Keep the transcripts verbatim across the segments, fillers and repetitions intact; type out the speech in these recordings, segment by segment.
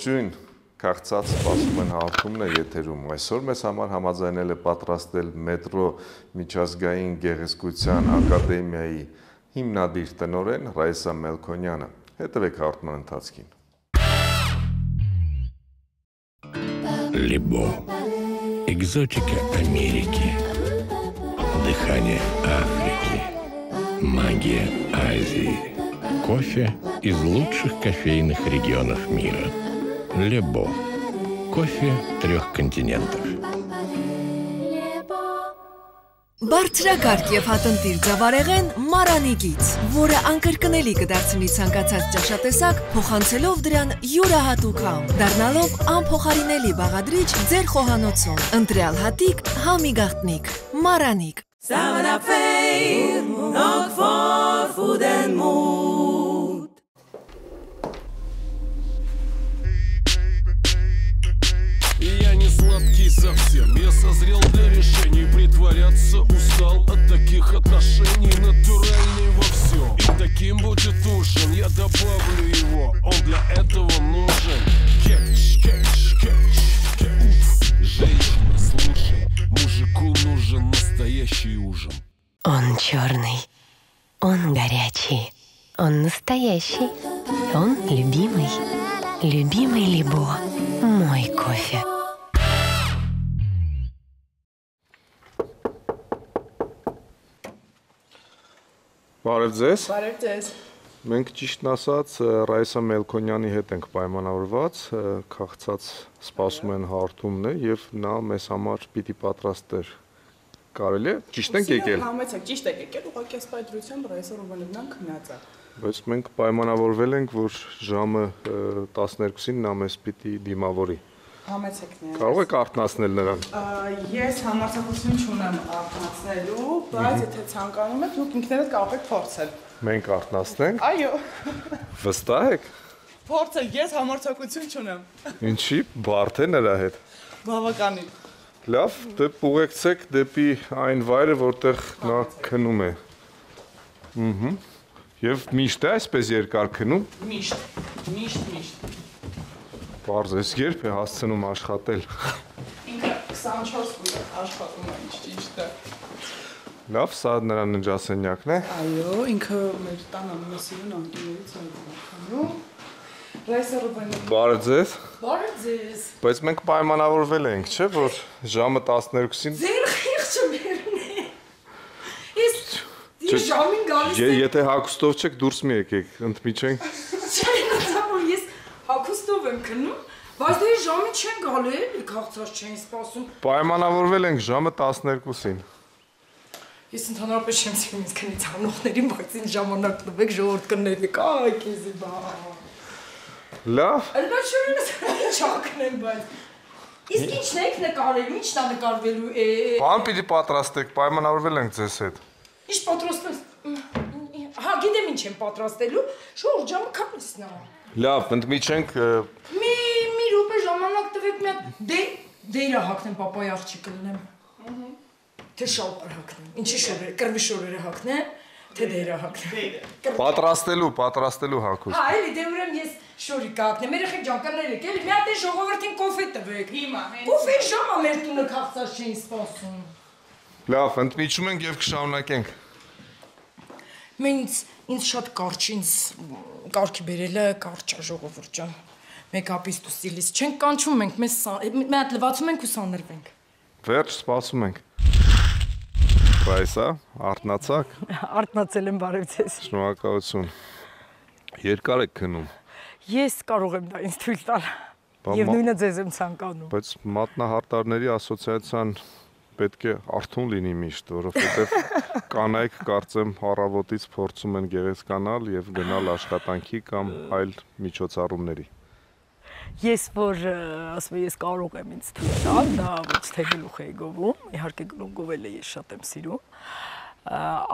Ողջույն, քաղցած սպասում են հաղորդումն է եթերում։ Այսօր մեզ համար համաձայնել է պատրաստել մետրո միջազգային գեղեցկության ակադեմիայի հիմնադիր տնօրեն Ռայսա Մելքոնյանը։ Հետևեք հաղորդման ընթացքին։ Либо экзотика Америки, дыхание Африки, магия Азии, кофе из лучших кофейных регионов мира. Лебо. Кофе трех континентов. Բարձրակարգ եւ հատնտիր ձավարեղեն Մարանի գից, որը անկրկնելի կդարձնի ցանկացած ճաշատեսակ, փոխանցելով դրան յուրահատուկ համ, դառնալով անփոխարինելի բաղադրիչ ձեր խոհանոցում։ Ընտրյալ հատիկ, համի գաղտնիք, Մարանիկ։ seven up fame, not for food and mood. Я не сладкий совсем, я созрел для решений. Притворяться устал от таких отношений. Натуральный во всем, и таким будет ужин. Я добавлю его, он для этого нужен. Кетч, кетч, кетч, кетч. Женщина, слушай, мужику нужен настоящий ужин. Он черный, он горячий, он настоящий, он любимый, любимый Либо, мой кофе. Բարև ձեզ։ Բարև ձեզ։ Մենք ճիշտն ասած Ռայսա Մելքոնյանի հետ ենք պայմանավորված, քաղցած սպասում են հաղորդումն է եւ նա մեզ համար պիտի պատրաստեր։ Կարելի է ճիշտ ենք եկել։ Համեցեք, ճիշտ եք եկել, ուղղակի ասպայ դրությամբ Ռայսա Ռուբենովնան քնած է։ Բայց մենք պայմանավորվել ենք, որ ժամը տասներկուսին նա մեզ պիտի դիմավորի։ Համեցեք նրա։ Կարող եք արթնացնել նրան։ Ես համարձակություն չունեմ արթնացնելու, բայց եթե ցանկանում եք, դուք ինքներդ կարող եք փորձել։ Մենք արթնացնենք։ Այո։ Վստահ եք։ Փորձել, ես համարձակություն չունեմ։ Ինչի՞ բարդ է նրա հետ։ Բավականին։ Լավ, դե ուղեկցեք դեպի այն վայրը, որտեղ նա քնում է։ Ահա։ Եվ միշտ է այսպես երկար քնում։ Միշտ, միշտ, միշտ։ Պարզ ես երբ է հասցնում աշխատել։ Ինքը քսանչորս կուլ աշխատում է, ճիշտ է։ Լավ, սա նրա ննջասենյակն է։ Այո, ինքը մեր տան ամենասիրուն անկյուններից է։ Ռայսա Ռուբենովնան։ Բարև ձեզ։ Բարև ձեզ։ Բայց մենք պայմանավորվել ենք, չէ՞, որ ժամը տասներկուսին։ Ձեր խիղճը մերն է։ Ես ես ժամին գալիս եմ։ Եթե հագուստով չեք, դուրս մի եկեք, ընդմիջենք։ Չէ, նացավոր ես հագուստով եմ քնում, բայց դե ժամին չեն գալու, էլի քաղցած չեն սպասում։ Պայմանավորվել ենք ժամը տասներկուսին։ Ես ընդհանրապես չեմ սիրում ինձ քնից անողներին, բայց ինձ ժամանակ տվեք ժողովուրդ կներեք, այ քեզի բա։ Լավ։ Ալբათ շուրինս չակնեմ, բայց իսկ ի՞նչն եք նկարելու, ի՞նչն է նկարվելու է։ Բան պիտի պատրաստեք, պայմանավորվել ենք ձեզ հետ։ Ինչ պատրաստես։ Հա, գիտեմ ինչ եմ պատրաստելու, շուրջ ժամը քանիսն է։ Լավ, ընդմիջենք։ Մի մի րոպե ժամանակ տվեք մի հատ դե դեյրա հակնեմ, պապայի աղջիկը լինեմ։ Ահա։ Թե շալպար հակնեմ։ Ինչի շորերը, կրվի շորերը հակնեմ, թե դեյրա հակնեմ։ Պատրաստելու, պատրաստելու հագուստ։ Հա, էլի դե ուրեմն ես շորիկ հակնեմ։ Երեխեք ջան, կներեք, էլի մի հատ է ժողովրդին կոֆե տվեք։ Հիմա։ Կոֆե ժամը մեր տունը քաղցած չէին սպասում։ Լավ, ընդմիջում ենք եւ կշարունակենք։ Մենք ինձ շատ կարճ, ինձ կարգի բերելը կարճ է ժողովուրդ ջան։ Մեկ-ապից ու ստիլից չենք կանչում, մենք մեզ մի հատ լվացում ենք ու սանրվենք։ Վերջ, սպասում ենք։ Ռայսա, արթնացաք։ Արթնացել եմ, բարև ձեզ։ Շնորհակալություն։ Երկար եք քնում։ Ես կարող եմ դա ինձ թույլ տալ։ Եվ նույնը ձեզ եմ ցանկանում։ Բայց մատնահարտարների ասոցիացիան պետք է արթուն լինի միշտ, որովհետև կանայք կարծեմ առավոտից փորձում են գեղեցկանալ եւ գնալ աշխատանքի կամ այլ միջոցառումների։ Ես որ ասում եմ, ես կարող եմ ինձ թույլ տալ, դա ոչ թե գլուխ է գովում, իհարկե գլուխ-գովելը ես շատ եմ սիրում,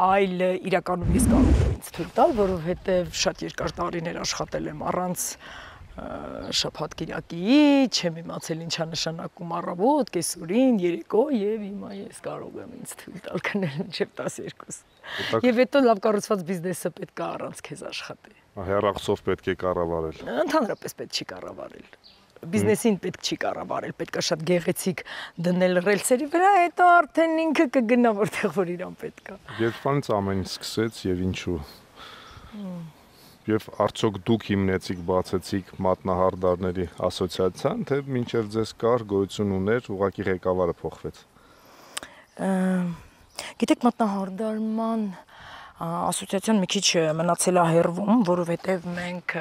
այլ իրականում ես կարող եմ ինձ թույլ տալ, որովհետև շատ երկար տարիներ աշխատել եմ առանց շաբաթ կիրակի, չեմ իմացել ինչա նշանակում առավոտ, կեսօրին, երեկո եւ հիմա ես կարող եմ ինձ թույլ տալ քնել մինչեւ տասներկուս։ Եվ հետո լավ կառուցված բիզնեսը պետք է առանց քեզ աշխատի։ Հեռախոսով պետք է կառավարել։ Ընդհանրապես պետք չի կառավարել։ բիզնեսին պետք չի կառավարել, պետք է շատ գեղեցիկ դնել ռելսերի վրա, հետո արդեն ինքը կգնա որտեղ որ իրան պետք է։ Երբանից ամեն ինչ սկսեց եւ ինչու։ Եվ արդյոք դուք հիմնեցիք, բացեցիք մատնահարդարների ասոցիացիան, թե մինչև ձեզ կար, գոյություն ուներ, ուղղակի ղեկավարը փոխվեց։ Գիտեք, մատնահարդարման ասոցիացիան մի քիչ մնացել է հեռվում, որովհետև մենք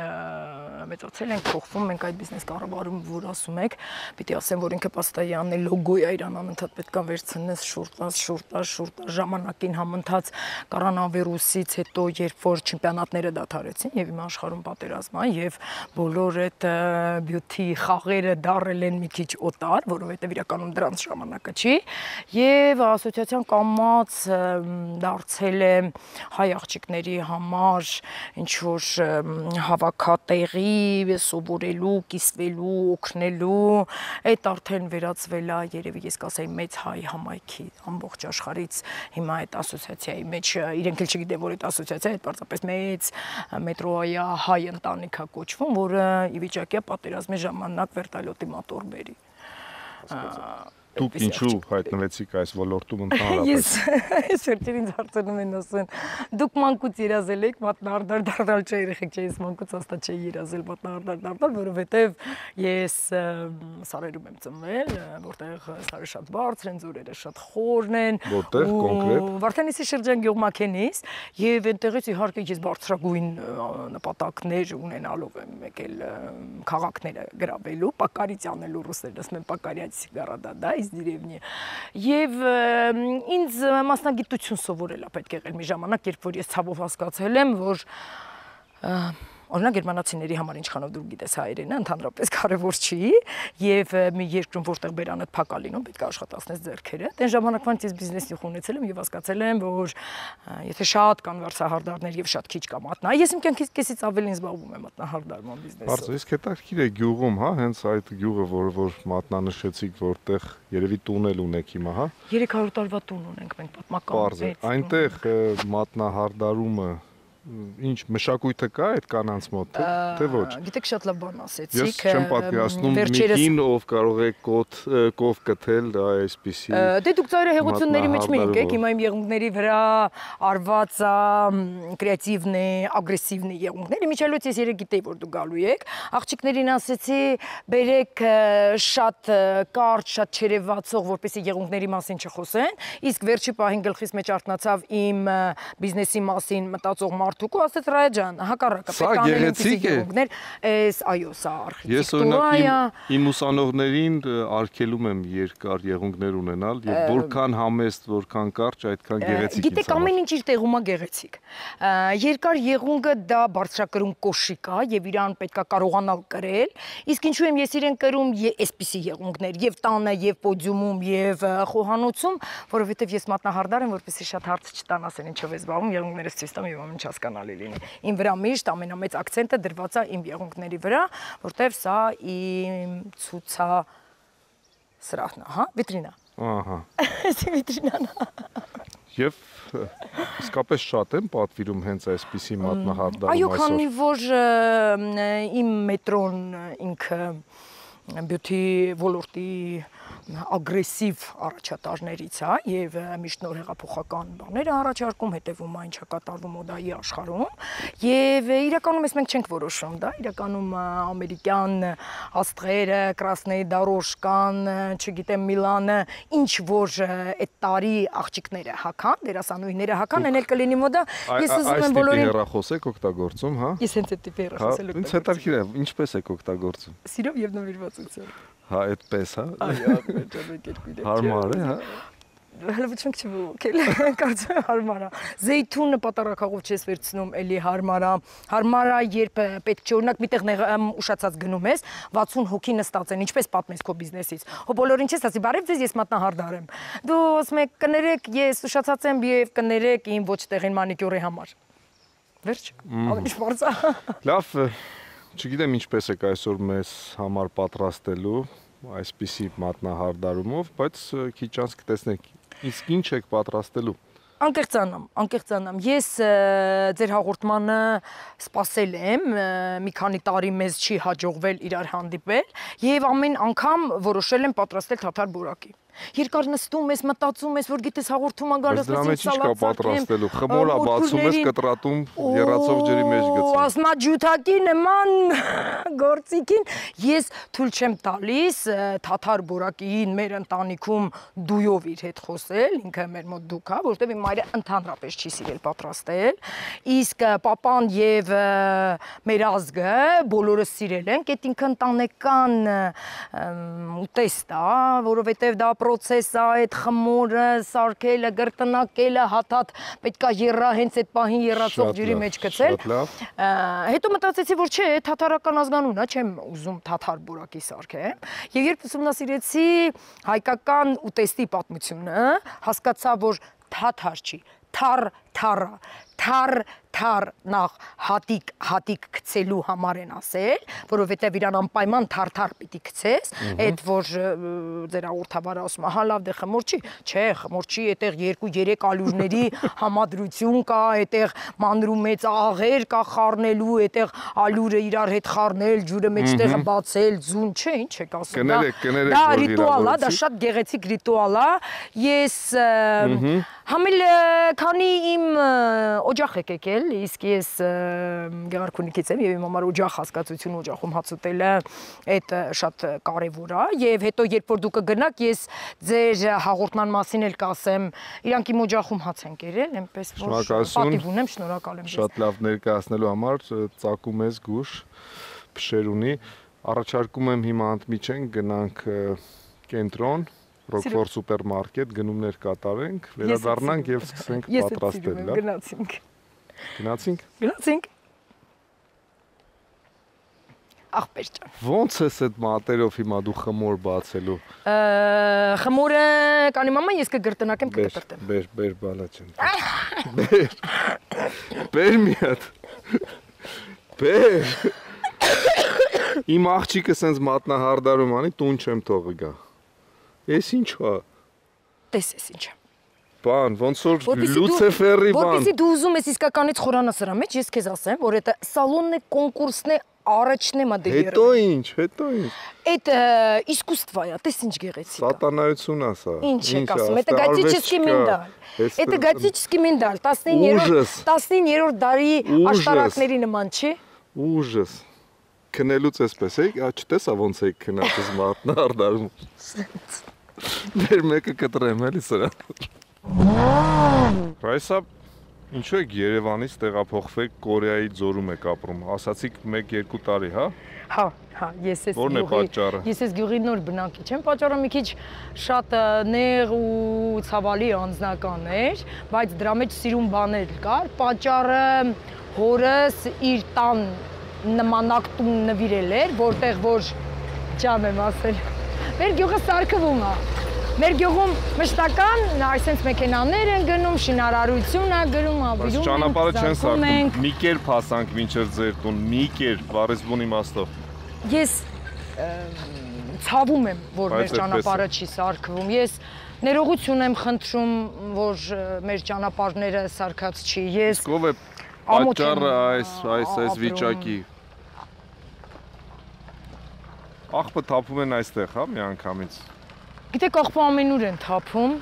մեծացել ենք, փոխվում, մենք այդ բիզնես կառավարում, որ ասում եք, պիտի ասեմ, որ ինքը պաստայանն է, լոգոյ է, իրան անընդհատ պետք է վերցնես, շուրտած, շուրտած, շուրտած, ժամանակին համընթաց կորոնավիրուսից հետո, երբ որ չեմպիոնատները դադարեցին եւ իմ աշխարհում պատերազմ է եւ բոլոր այդ բյութի խաղերը դարել են մի քիչ օտար, որովհետեւ իրականում դրանց ժամանակը չի, եւ ասոցիացիան կամած դարձել է հայ աղջիկների համար ինչ որ հավաքատեղի, սովորելու, կիսվելու, օգնելու, այդ արդեն վերածվել է, երևի ես կասեի մեծ հայ համայնքի ամբողջ աշխարհից հիմա այդ ասոցիացիայի մեջ իրենք էլ չգիտեն, որ այդ ասոցիացիա այդ պարզապես մեծ մետրոյա հայ ընտանիք է կոչվում, որը ի վիճակի է պատերազմի ժամանակ վերտալյոտի մոտոր բերի։ Դուք ինչու հայտնվեցիք այս ոլորտում ընդհանրապես։ Ես վերջին ինձ հարցնում են ասում, դուք մանկուց երազել եք մատնահարդար դառնալ, չէ, երեխեք չէ, ես մանկուց հաստատ չէի երազել մատնահարդար դառնալ, որովհետև ես սարերում եմ ծնվել, որտեղ սարերը շատ բարձր են, ձորերը շատ խորն են։ Որտեղ կոնկրետ։ Վարդանիսի շրջան գյուղմաքենից, եւ այնտեղից իհարկե ես բարձրագույն նպատակներ ունենալով եմ եկել քաղաքները գրավելու, պակարից անելու ռուսերն ասում են պակարյաց գարադա դիրևնի եւ ինձ մասնագիտություն սովորել է պետք եղել մի ժամանակ, երբ որ ես ցավով հասկացել եմ, որ օրինակ գերմանացիների համար ինչքանով դու գիտես հայերենը ընդհանրապես կարևոր չի եւ մի երկրում որտեղ բերանդ փակ ալինում պետք է աշխատացնես ձեռքերը այն ժամանակվանից ես բիզնեսի խունեցել եմ եւ հասկացել եմ որ եթե շատ կան վարսահարդարներ եւ շատ քիչ կա մատնա ես իմ կյանքից կեսից ավելի զբաղվում եմ մատնահարդարման բիզնեսով Բարձր իսկ հետաքրքիր է գյուղում հա հենց այդ գյուղը որ որ մատնանշեցիք որտեղ երևի տուն էլ ունեք հիմա հա երեք հարյուր տարվա տուն ունենք մենք պատմական այնտեղ մատնահարդարումը Ինչ մշակույթը կա այդ կանանց մոտ թե ոչ Գիտեք շատ լավ բան ասեցիք Ես չեմ պատկերացնում մի կին ով կարող է կոթ կով կթել դա այսպեսի Դե դուք ծայրը հեղությունների մեջ մի եկեք հիմա իմ եղունգների վրա արված կրեատիվն է ագրեսիվն է եղունգները միջալոց ես երեք գիտեի որ դուք գալու եք աղջիկներին ասեցի բերեք շատ կարճ շատ չերևացող որպեսզի եղունգների մասին չխոսեն իսկ վերջի պահին գլխիս մեջ արթնացավ իմ բիզնեսի մասին մտածող Մարդուկու ասեց Ռայա ջան, հակառակը պետք է անել ինքսի եղունգներ, էս այո, սա արխիտեկտուրա է։ Իմ ուսանողներին արգելում եմ երկար եղունգներ ունենալ եւ որքան համեստ, որքան կարճ, այդքան գեղեցիկ։ Գիտեք, ամեն ինչ իր տեղում է գեղեցիկ։ Երկար եղունգը դա բարձրակրում կոշիկ է եւ իրան պետք է կարողանալ կրել, իսկ ինչու եմ ես իրեն կրում այսպիսի եղունգներ եւ տանը եւ պոդիումում եւ խոհանոցում, որովհետեւ ես մատնահարդար եմ, որպեսզի շատ հարց չտան ասեն ինչով է զբաղվում, եղունգներս ցույց տամ եւ ամեն հասկանալի լինի։ Իմ վրա միշտ ամենամեծ ակցենտը դրված է իմ եղունգների վրա, որտեվ սա իմ ցուցա սրահն է, հա, վիտրինա։ Ահա։ Էսի վիտրինան։ Եվ իսկապես շատ եմ պատվիրում հենց այսպիսի մատնահարդարում այսօր։ Այո, քանի որ իմ մետրոն ինքը բյութի ոլորտի ագրեսիվ առաջատարներից է եւ միշտ նոր հեղափոխական բաներ առաջարկում, հետեւում է ինչա կատարվում մոդայի աշխարհում եւ իրականում ես մենք չենք որոշում, դա իրականում ամերիկյան աստղերը, Կրասնեյ դարոշկան, չգիտեմ Միլանը, ինչ որ այդ տարի աղջիկները հական, դերասանուհիները հական, են էլ կլինի մոդա, ես ուզում եմ բոլորին հեռախոս եք օգտագործում, հա։ Ես հենց այդ տիպի հեռախոսել եմ։ Ինձ հետաքրքիր է, ինչպես եք օգտագործում։ Սիրով եւ նվիրվածությամբ։ Հա, այդպես, հա։ Այո, մեջամեջերկույն է։ Հարմար է, հա։ Հələ ոչ մենք չվոքել, կարծում եմ հարմար է։ Զեյթունը պատարակաղով չես վերցնում, էլի հարմար է։ Հարմար է, երբ պետք չէ, օրինակ միտեղ ուշացած գնում ես, վաթսուն հոգի նստած են, ինչպես պատմես քո բիզնեսից։ Հո բոլորին չես ասի, բարև ձեզ, ես մատնահարդար եմ։ Դու ասում եք կներեք, ես ուշացած եմ եւ կներեք իմ ոչ տեղին մանիկյուրի համար։ Վերջ։ Ամեն ինչ բարձ է։ Լավ, չգիտեմ ինչպես եք այսօր մեզ համար պատրաստելու այսպիսի մատնահարդարումով, բայց քիչ անց կտեսնենք Իսկ ինչ եք պատրաստելու։ Անկեղծանամ, անկեղծանամ։ Ես ձեր հաղորդմանը սպասել եմ, մի քանի տարի մեզ չի հաջողվել իրար հանդիպել եւ ամեն անգամ որոշել եմ պատրաստել թաթար բորակի։ Երկար նստում ես, մտածում ես, որ գիտես հաղորդում անգալով ես ինչ կա պատրաստելու, խմորը բացում ես, կտրատում, եռացող ջրի մեջ գցում։ Ասմաջութակի նման գործիքին ես թույլ չեմ տալիս թաթար բորակիին մեր ընտանիքում դույով իր հետ խոսել, ինքը մեր մոտ դուք է, որտեղ իմ մայրը ընդհանրապես չի սիրել պատրաստել, իսկ պապան եւ մեր ազգը բոլորը սիրել են, այդ ինքը ընտանեկան ուտեստ է, որովհետեւ դա process է, այդ խմորը, սարքելը, գրտնակելը, հաթաթ պետք է եռա հենց այդ պահին եռացող ջրի մեջ գցել։ Հետո մտածեցի, որ չէ, թաթարական ազգանուն է, չեմ ուզում թաթար բորակի սարքեմ։ Եվ երբ ուսումնասիրեցի հայկական ուտեստի պատմությունը, հասկացա, որ թաթար չի, թար թարա, թար թար նախ հատիկ հատիկ գցելու համար են ասել, որովհետև իրան անպայման թարթար պիտի գցես, այդ որ ձեր հաղորդավարը ասում է, հա լավ դե խմոր չի, չէ, խմոր չի, այդտեղ երկու երեք ալյուրների համադրություն կա, այդտեղ մանրու մեծ աղեր կա խառնելու, այդտեղ ալյուրը իրար հետ խառնել, ջուրը մեջտեղը բացել, ձուն, չէ, ինչ եք ասում, դա ռիտուալ է, դա շատ գեղեցիկ ռիտուալ է, ես համել քանի իմ օջախ եք եկել, իսկ ես Գեղարքունիքից եմ եւ իմ համար օջախ հասկացությունը օջախում հաց ուտելը այդ շատ կարեւոր է եւ հետո երբ որ դուք կգնաք ես ձեր հաղորդման մասին էլ կասեմ, իրանք իմ օջախում հաց են կերել, այնպես որ պատիվ ունեմ, շնորհակալ եմ։ Շատ լավ ներկայացնելու համար ծակում ես գուշ փշեր ունի, առաջարկում եմ հիմա ընդմիջենք գնանք կենտրոն Rockford սուպերմարկետ գնումներ կատարենք, վերադառնանք եւ սկսենք պատրաստել, լավ։ Գնացինք։ Գնացինք։ Գնացինք։ Ախպեր ջան։ Ոնց ես այդ մատերով հիմա դու խմոր բացելու։ Խմորը կանի մամա ես կգրտնակեմ կկտրտեմ։ Բեր, բեր բալա ջան։ Բեր։ Բեր մի հատ։ Բեր։ Իմ աղջիկը սենց մատնահարդարում անի, տուն չեմ թողի գա։ Ես ինչ է։ Տես ես ինչ է։ Բան, ոնց որ Լուցեֆերի բան։ Որպեսզի դու ուզում ես իսկականից խորանա սրա մեջ, ես քեզ ասեմ, որ դա սալոնն է, կոնկուրսն է, առաջն է մադե երը։ Հետո ինչ, հետո ինչ։ Այդ իսկուստվա է, տես ինչ գեղեցիկ է։ Սատանայություն է սա։ Ինչ եք ասում, это готический миндаль։ Это готический миндаль, տասնիններորդ դարի աշտարակների նման չի։ Ուժս։ Քնելուց էսպես է, չտեսա ոնց է քնած մատնահարդարում։ Մեր մեկը կտրեմ էլի սրա։ Ռայսա, ինչու եք Երևանից տեղափոխվեք Կորեայի ձորում եք ապրում, ասացիք մեկ երկու տարի, հա։ Հա, հա, ես ես Որն է պատճառը։ Ես ես գյուղի նոր բնակիչ եմ, պատճառը մի քիչ շատ նեղ ու ցավալի անձնական էր, բայց դրա մեջ սիրուն բաներ կար, պատճառը հորս իր տան նմանակ տուն նվիրել էր, որտեղ որ ջան եմ ասել։ Մեր գյուղը սարքվում է։ Մեր գյուղում մշտական այսպես մեքենաներ են գնում, շինարարություն է գրում, ավիրում են։ Ճանապարհը չեն սարքում։ Մի կերպ հասանք մինչև ձեր տուն, մի կերպ, բառեզբուն իմաստով։ Ես ցավում եմ, որ մեր ճանապարհը չի սարքվում։ Ես ներողություն եմ խնդրում, որ մեր ճանապարհները սարքած չի։ Ես ով է պատճառը այս այս այս վիճակի։ Աղբը թափում են այստեղ, հա, մի անգամից։ Գիտեք, աղբը ամենուր են թափում։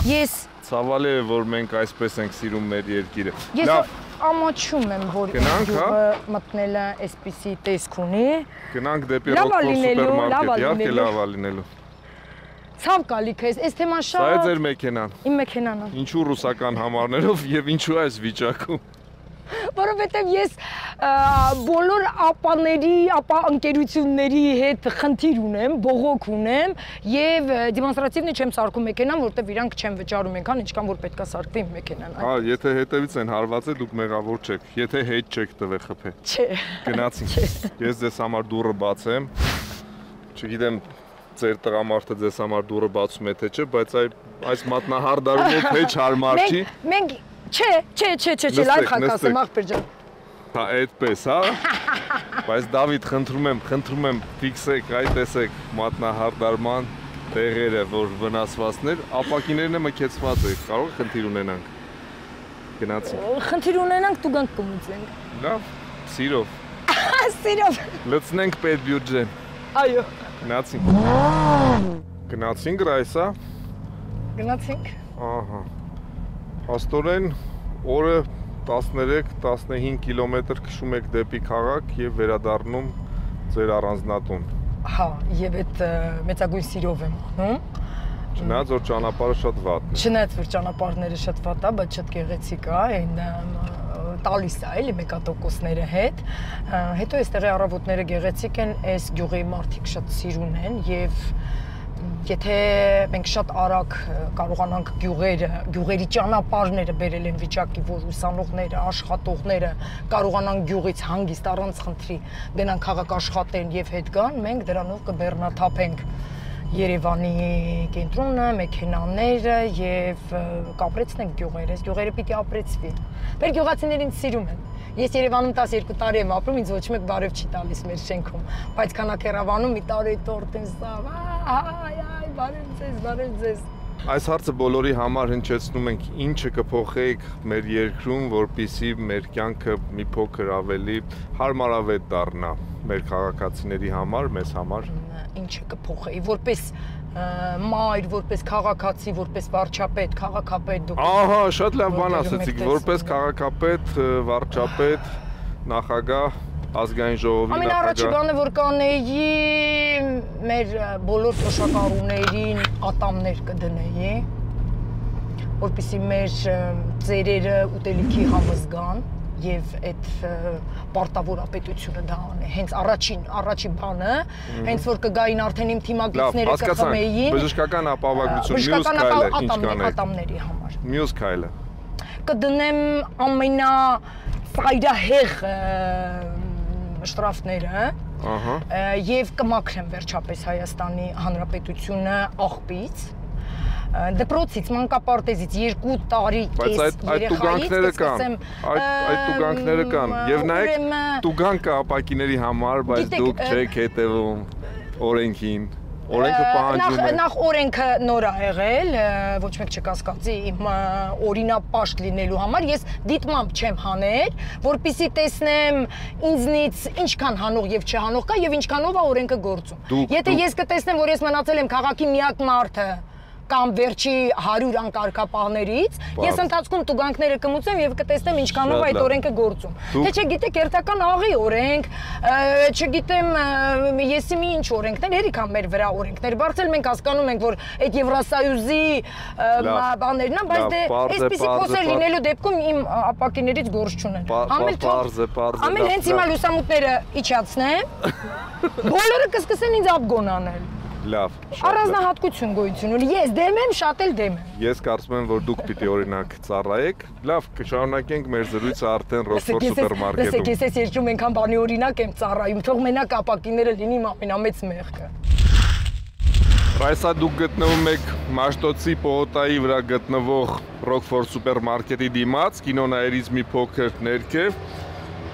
Ես ցավալի է, որ մենք այսպես ենք սիրում մեր երկիրը։ Ես ամաչում եմ, որ գյուղը մտնելը այսպիսի տեսք ունի։ Գնանք դեպի Rockford սուպերմարկետ, իհարկե լավ է լինելու։ Ցավ կալի քեզ, այս թեման շատ։ Սա է ձեր մեքենան։ Իմ մեքենան է։ Ինչու ռուսական համարներով եւ ինչու այս վիճակում։ Որովհետև ես բոլոր ապաների, ապա ընկերությունների հետ խնդիր ունեմ, բողոք ունեմ եւ դեմոնստրատիվնի չեմ սարքում մեքենան, որովհետև իրանք չեմ վճարում այնքան, ինչքան որ պետքա սարքվի իմ մեքենան։ Հա, եթե հետևից են հարված է, դուք մեղավոր չեք։ Եթե հետ չեք տվել խփե։ Չէ։ Գնացինք։ Ես ձեզ համար դուռը բացեմ։ Չգիտեմ ձեր տղամարդը ձեզ համար դուռը բացում է թե չէ, բայց այս մատնահարդարումով հեչ հարմար չի։ Մենք Չէ, չէ, չէ, չէ, չէ, լայվ խակ ասեմ, աղբեր ջան։ Հա, այդպես, հա։ Բայց Դավիթ, խնդրում եմ, խնդրում եմ, ֆիքսեք, այ տեսեք, մատնահարդարման տեղերը, որ վնասվածներ, ապակիներն է մքեցված է, կարող է խնդիր ունենանք։ Գնացինք։ Խնդիր ունենանք, դու գանք կմուծենք։ Լավ, սիրով։ Սիրով։ Լցնենք պետբյուջեն։ Այո։ Գնացինք։ Գնացինք Ռայսա։ Գնացինք։ Ահա։ Հաստորեն օրը տասներեք տասնհինգ կիլոմետր քշում եք դեպի քաղաք եւ վերադառնում ձեր առանձնատուն։ Հա, եւ այդ մեծագույն սիրով եմ անում։ Չնայած որ ճանապարհը շատ վատն է։ Չնայած որ ճանապարհները շատ վատ է, բայց շատ գեղեցիկ է, այն տալիս է էլի մեկատոկոսները հետ։ Հետո այստեղի առավոտները գեղեցիկ են, այս գյուղի մարդիկ շատ սիրուն են եւ եթե մենք շատ արագ կարողանանք գյուղերը, գյուղերի ճանապարհները բերել են վիճակի, որ ուսանողները, աշխատողները կարողանան գյուղից հանգիստ առանց խնդրի գնան քաղաք աշխատեն եւ հետ գան, մենք դրանով կբեռնաթափենք Երևանի կենտրոնը, մեքենաները եւ կապրեցնենք գյուղերը, այս գյուղերը պիտի ապրեցվի։ Մեր գյուղացիներին ինձ սիրում են։ Ես Երևանում տասներկու տարի եմ ապրում, ինձ ոչ մեկ բարև չի տալիս մեր շենքում, բայց քանակ Երևանում մի տարի տորտ են սավ, այ այ բարև ձեզ, բարև ձեզ։ Այս հարցը բոլորի համար հնչեցնում ենք, ինչը կփոխեիք մեր երկրում, որպեսզի մեր կյանքը մի փոքր ավելի հարմարավետ դառնա մեր քաղաքացիների համար, մեզ համար։ Ինչը կփոխեի, որպես մայր, որպես քաղաքացի, որպես վարչապետ, քաղաքապետ դուք։ Ահա, շատ լավ բան ասացիք, որպես քաղաքապետ, վարչապետ, նախագահ, ազգային ժողովի նախագահ։ Ամենառաջի բանը, որ կանեի, մեր բոլոր թոշակառուներին ատամներ կդնեի, որպեսզի մեր ծերերը ուտելիքի համոզգան եւ այդ պարտավորապետությունը դա անե։ Հենց առաջին, առաջին բանը, հենց որ կգային արդեն իմ թիմակիցները կխմեին։ Բժշկական ապահովագրություն, մյուս քայլը ինչ կանեք։ Ատամների համար։ Մյուս քայլը։ Կդնեմ ամենա ֆայդահեղ շտրաֆները, ահա, եւ կմաքրեմ վերջապես Հայաստանի Հանրապետությունը աղբից։ Դպրոցից, մանկապարտեզից երկու տարի կես երեխայից կսկսեմ այդ տուգանքները կան եւ նայեք տուգանքը ապակիների համար, բայց դուք չեք հետևում օրենքին, օրենքը պահանջում է։ Նախ օրենքը նոր է եղել, ոչ մեկ չկասկածի իմ օրինապաշտ լինելու համար, ես դիտմամբ չեմ հանել, որպեսզի տեսնեմ ինձնից ինչքան հանող եւ չհանող կա եւ ինչքանով է օրենքը գործում։ Եթե ես կտեսնեմ, որ ես մնացել եմ քաղաքի միակ մարդը կամ վերջի հարյուր անկարգապահներից, ես ընթացքում տուգանքները կմուծեմ եւ կտեսնեմ ինչքանով այդ օրենքը գործում։ Թե չգիտեք, երթական աղի օրենք, չգիտեմ, եսի մի ինչ օրենքներ, հերիք ան մեր վրա օրենքներ, բարձր մենք հասկանում ենք, որ այդ Եվրասոյուզի բաներն են, բայց դե այսպիսի խոսեր լինելու դեպքում իմ ապակիներից գործ չունեն։ Ամեն հենց հիմա լուսամուտները իջացնեմ, բոլորը կսկսեն ինձ ափգոն անել։ Լավ, առանձնահատկություն գոյություն ունի, ես դեմ եմ, շատ էլ դեմ եմ։ Ես կարծում եմ, որ դուք պիտի օրինակ ծառայեք։ Լավ, կշարունակենք մեր զրույցը արդեն Ռոքֆոր սուպերմարկետում։ Լսեք, ես այս երկրում այնքան բանի օրինակ եմ ծառայում, թող մենակ ապակիները լինի ամենամեծ մեղքը։ Ռայսա, դուք գտնվում եք Մաշտոցի պողոտայի վրա գտնվող Ռոքֆոր սուպերմարկետի դիմաց, կինոնայերից մի փոքր ներքև։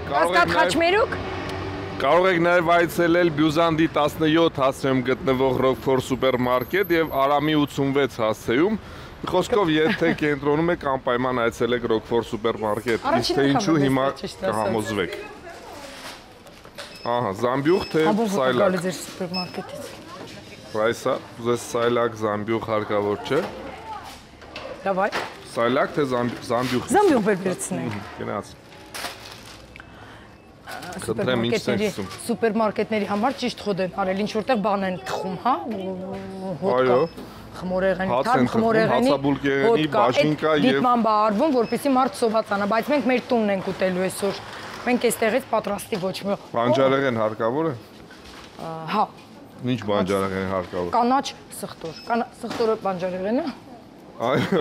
Կասկադ խաչմերուկ։ Կարող եք նաև այցելել Բյուզանդի տասնյոթ հասցեում գտնվող Ռոքֆոր սուպերմարկետ եւ Արամի ութսունվեց հասցեում։ Խոսքով, եթե կենտրոնում եք, անպայման այցելեք Ռոքֆոր սուպերմարկետ, իսկ թե ինչու հիմա կհամոզվեք։ Ահա, զամբյուղ թե սայլակ։ Ձեր սուպերմարկետից։ Ռայսա, ուզես սայլակ, զամբյուղ հարկավոր չէ։ Դավայ։ Սայլակ թե զամբյուղ։ Զամբյուղ վերցնենք։ Գնաց։ Սուպերմարկետների համար ճիշտ խոդ են արել, ինչ որտեղ բան են թխում, հա, հոտ կա, խմորեղենի, թարմ խմորեղենի, հոտ կա, այդ դիտման բա արվում, որպեսզի մարդ սովածանա, բայց մենք մեր տունն ենք ուտելու այսօր, մենք այստեղից պատրաստի ոչ մի։ Բանջարեղեն հարկավոր է։ Հա։ Ինչ բանջարեղեն հարկավոր։ Կանաչ սխտոր, սխտորը բանջարեղեն է։ Այո։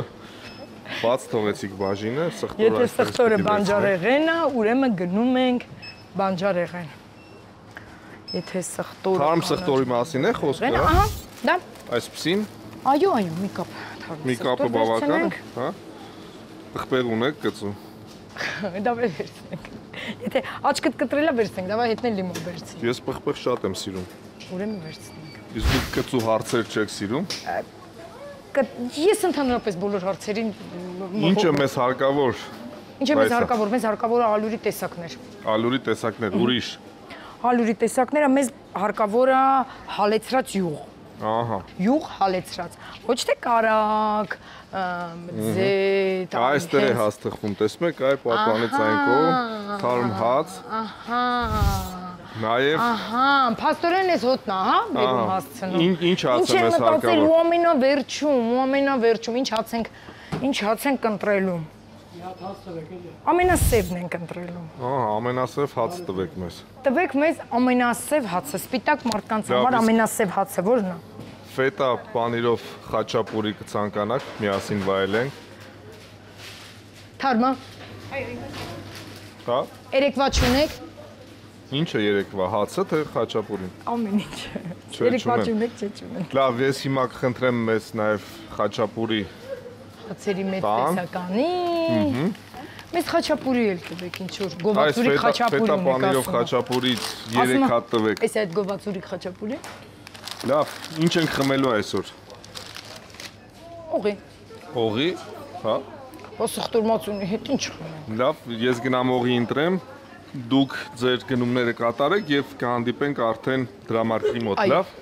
Բաց թողեցիք բաժինը, սխտորը։ Եթե սխտորը բանջարեղեն է, ուրեմն գնում ենք բանջարեղեն։ Եթե սխտորը թարմ սխտորի մասին է խոսքը, հա։ Ահա, դա։ Այսպեսին։ Այո, այո, մի կապ թարմ։ Մի կապը բավական է, հա։ Տխպեղ ունեք գծու։ Դա վերցնենք։ Եթե աչքդ կտրելա վերցնենք, դավայ հետնել լիմոն վերցնենք։ Ես պղպեղ շատ եմ սիրում։ Ուրեմն վերցնենք։ Իսկ դուք կծու հարցեր չեք սիրում։ Ես ընդհանրապես բոլոր հարցերին Ինչ է մեզ հարկավոր։ Ինչ է մեզ հարկավոր, մեզ հարկավոր է ալյուրի տեսակներ։ Ալյուրի տեսակներ, ուրիշ։ Ալյուրի տեսակները մեզ հարկավոր է հալեցրած յուղ։ Ահա։ Յուղ հալեցրած։ Ոչ թե կարակ, ձետ, այստեղ է հաստղվում, տեսնում եք, այ պատանից այն կողմ, թարմ հաց։ Ահա։ Նաև Ահա, փաստորեն էս հոտնա, հա, բերում հասցնում։ Ինչ հաց է մեզ հարկավոր։ Ինչ է մտածել ու ամենավերջում, ու ամենավերջում, ինչ հաց ենք, ինչ հաց ենք ընտրելու։ Ամենասևն ենք ընտրելու։ Ահա, ամենասև հաց տվեք մեզ։ Տվեք մեզ ամենասև հացը, սպիտակ մարդկանց համար ամենասև հացը ո՞րն է։ Ֆետա պանիրով խաչապուրի կցանկանաք, միասին վայելենք։ Թարմա։ Հա։ Երեկվա չունեք։ Ինչ է երեկվա, հացը թե խաչապուրին։ Ամեն ինչ։ Երեկվա չունեք, չէ չունեք։ Լավ, ես հիմա կխնդրեմ մեզ նաև խաչապուրի հացերի մեծ տեսականի։ Մեզ խաչապուրի էլ տվեք, ինչ որ գովացուրի խաչապուրի ունեք ասում։ Ֆետա պանիրով խաչապուրից երեք հատ տվեք։ Էս այդ գովացուրի խաչապուրի։ Լավ, ինչ ենք խմելու այսօր։ Օղի։ Օղի, հա։ Ոսխտուրմացունի հետ ինչ խմենք։ Լավ, ես գնամ օղի ընտրեմ, դուք ձեր գնումները կատարեք եւ կհանդիպենք արդեն դրամարկղի մոտ, լավ։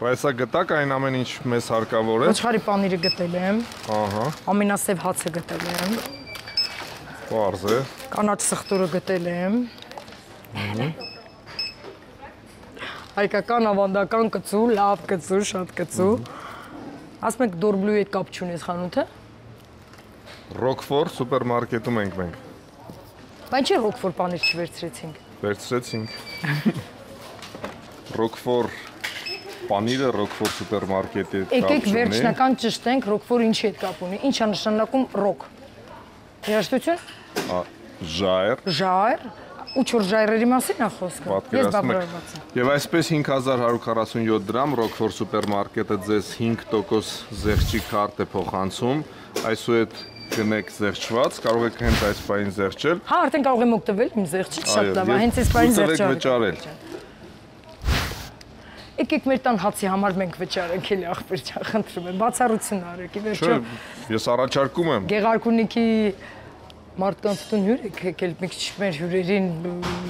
Այսա գտակ այն ամեն ինչ մեզ հարկավոր է։ Ոչխարի պանիրը գտել եմ։ Ահա։ Ամենասև հացը գտել եմ։ Պարզ է։ Կանաչ սխտուրը գտել եմ։ Հայկական ավանդական կծու, լավ կծու, շատ կծու։ Ասում եք դորբլուի հետ կապ չունես խանութը։ Ռոկֆոր սուպերմարկետում ենք մենք։ Բայց չէ ռոկֆոր պանիր չվերցրեցինք։ Վերցրեցինք։ Ռոկֆոր պանիրը ռոկֆոր սուպերմարկետի կապ չունի։ Եկեք վերջնական ճշտենք ռոկֆոր ինչի հետ կապ ունի։ Ինչ է նշանակում ռոկ։ Երաշտություն։ Ժայռ։ Ժայռ։ Ու չոր ժայռերի մասին է խոսքը։ Ես բավարարված եմ։ Եվ այսպես հինգ հազար հարյուր քառասունյոթ դրամ ռոկֆոր սուպերմարկետը ձեզ հինգ տոկոս զեղչի քարտ է փոխանցում։ Այսուհետ գնեք զեղչված, կարող եք հենց այս բանին զեղչել։ Հա, արդեն կարող եմ օգտվել իմ զեղչից, շատ լավ է, հենց այս բանին զեղչել։ Եկեք մեր տան հացի համար մենք վճարենք էլի ախպեր ջան, խնդրում եմ, բացառություն արեք, ի վերջո։ Չէ, ես առաջարկում եմ։ Գեղարքունիքի մարդկանց տուն հյուր եք եկել, մի քիչ մեր հյուրերին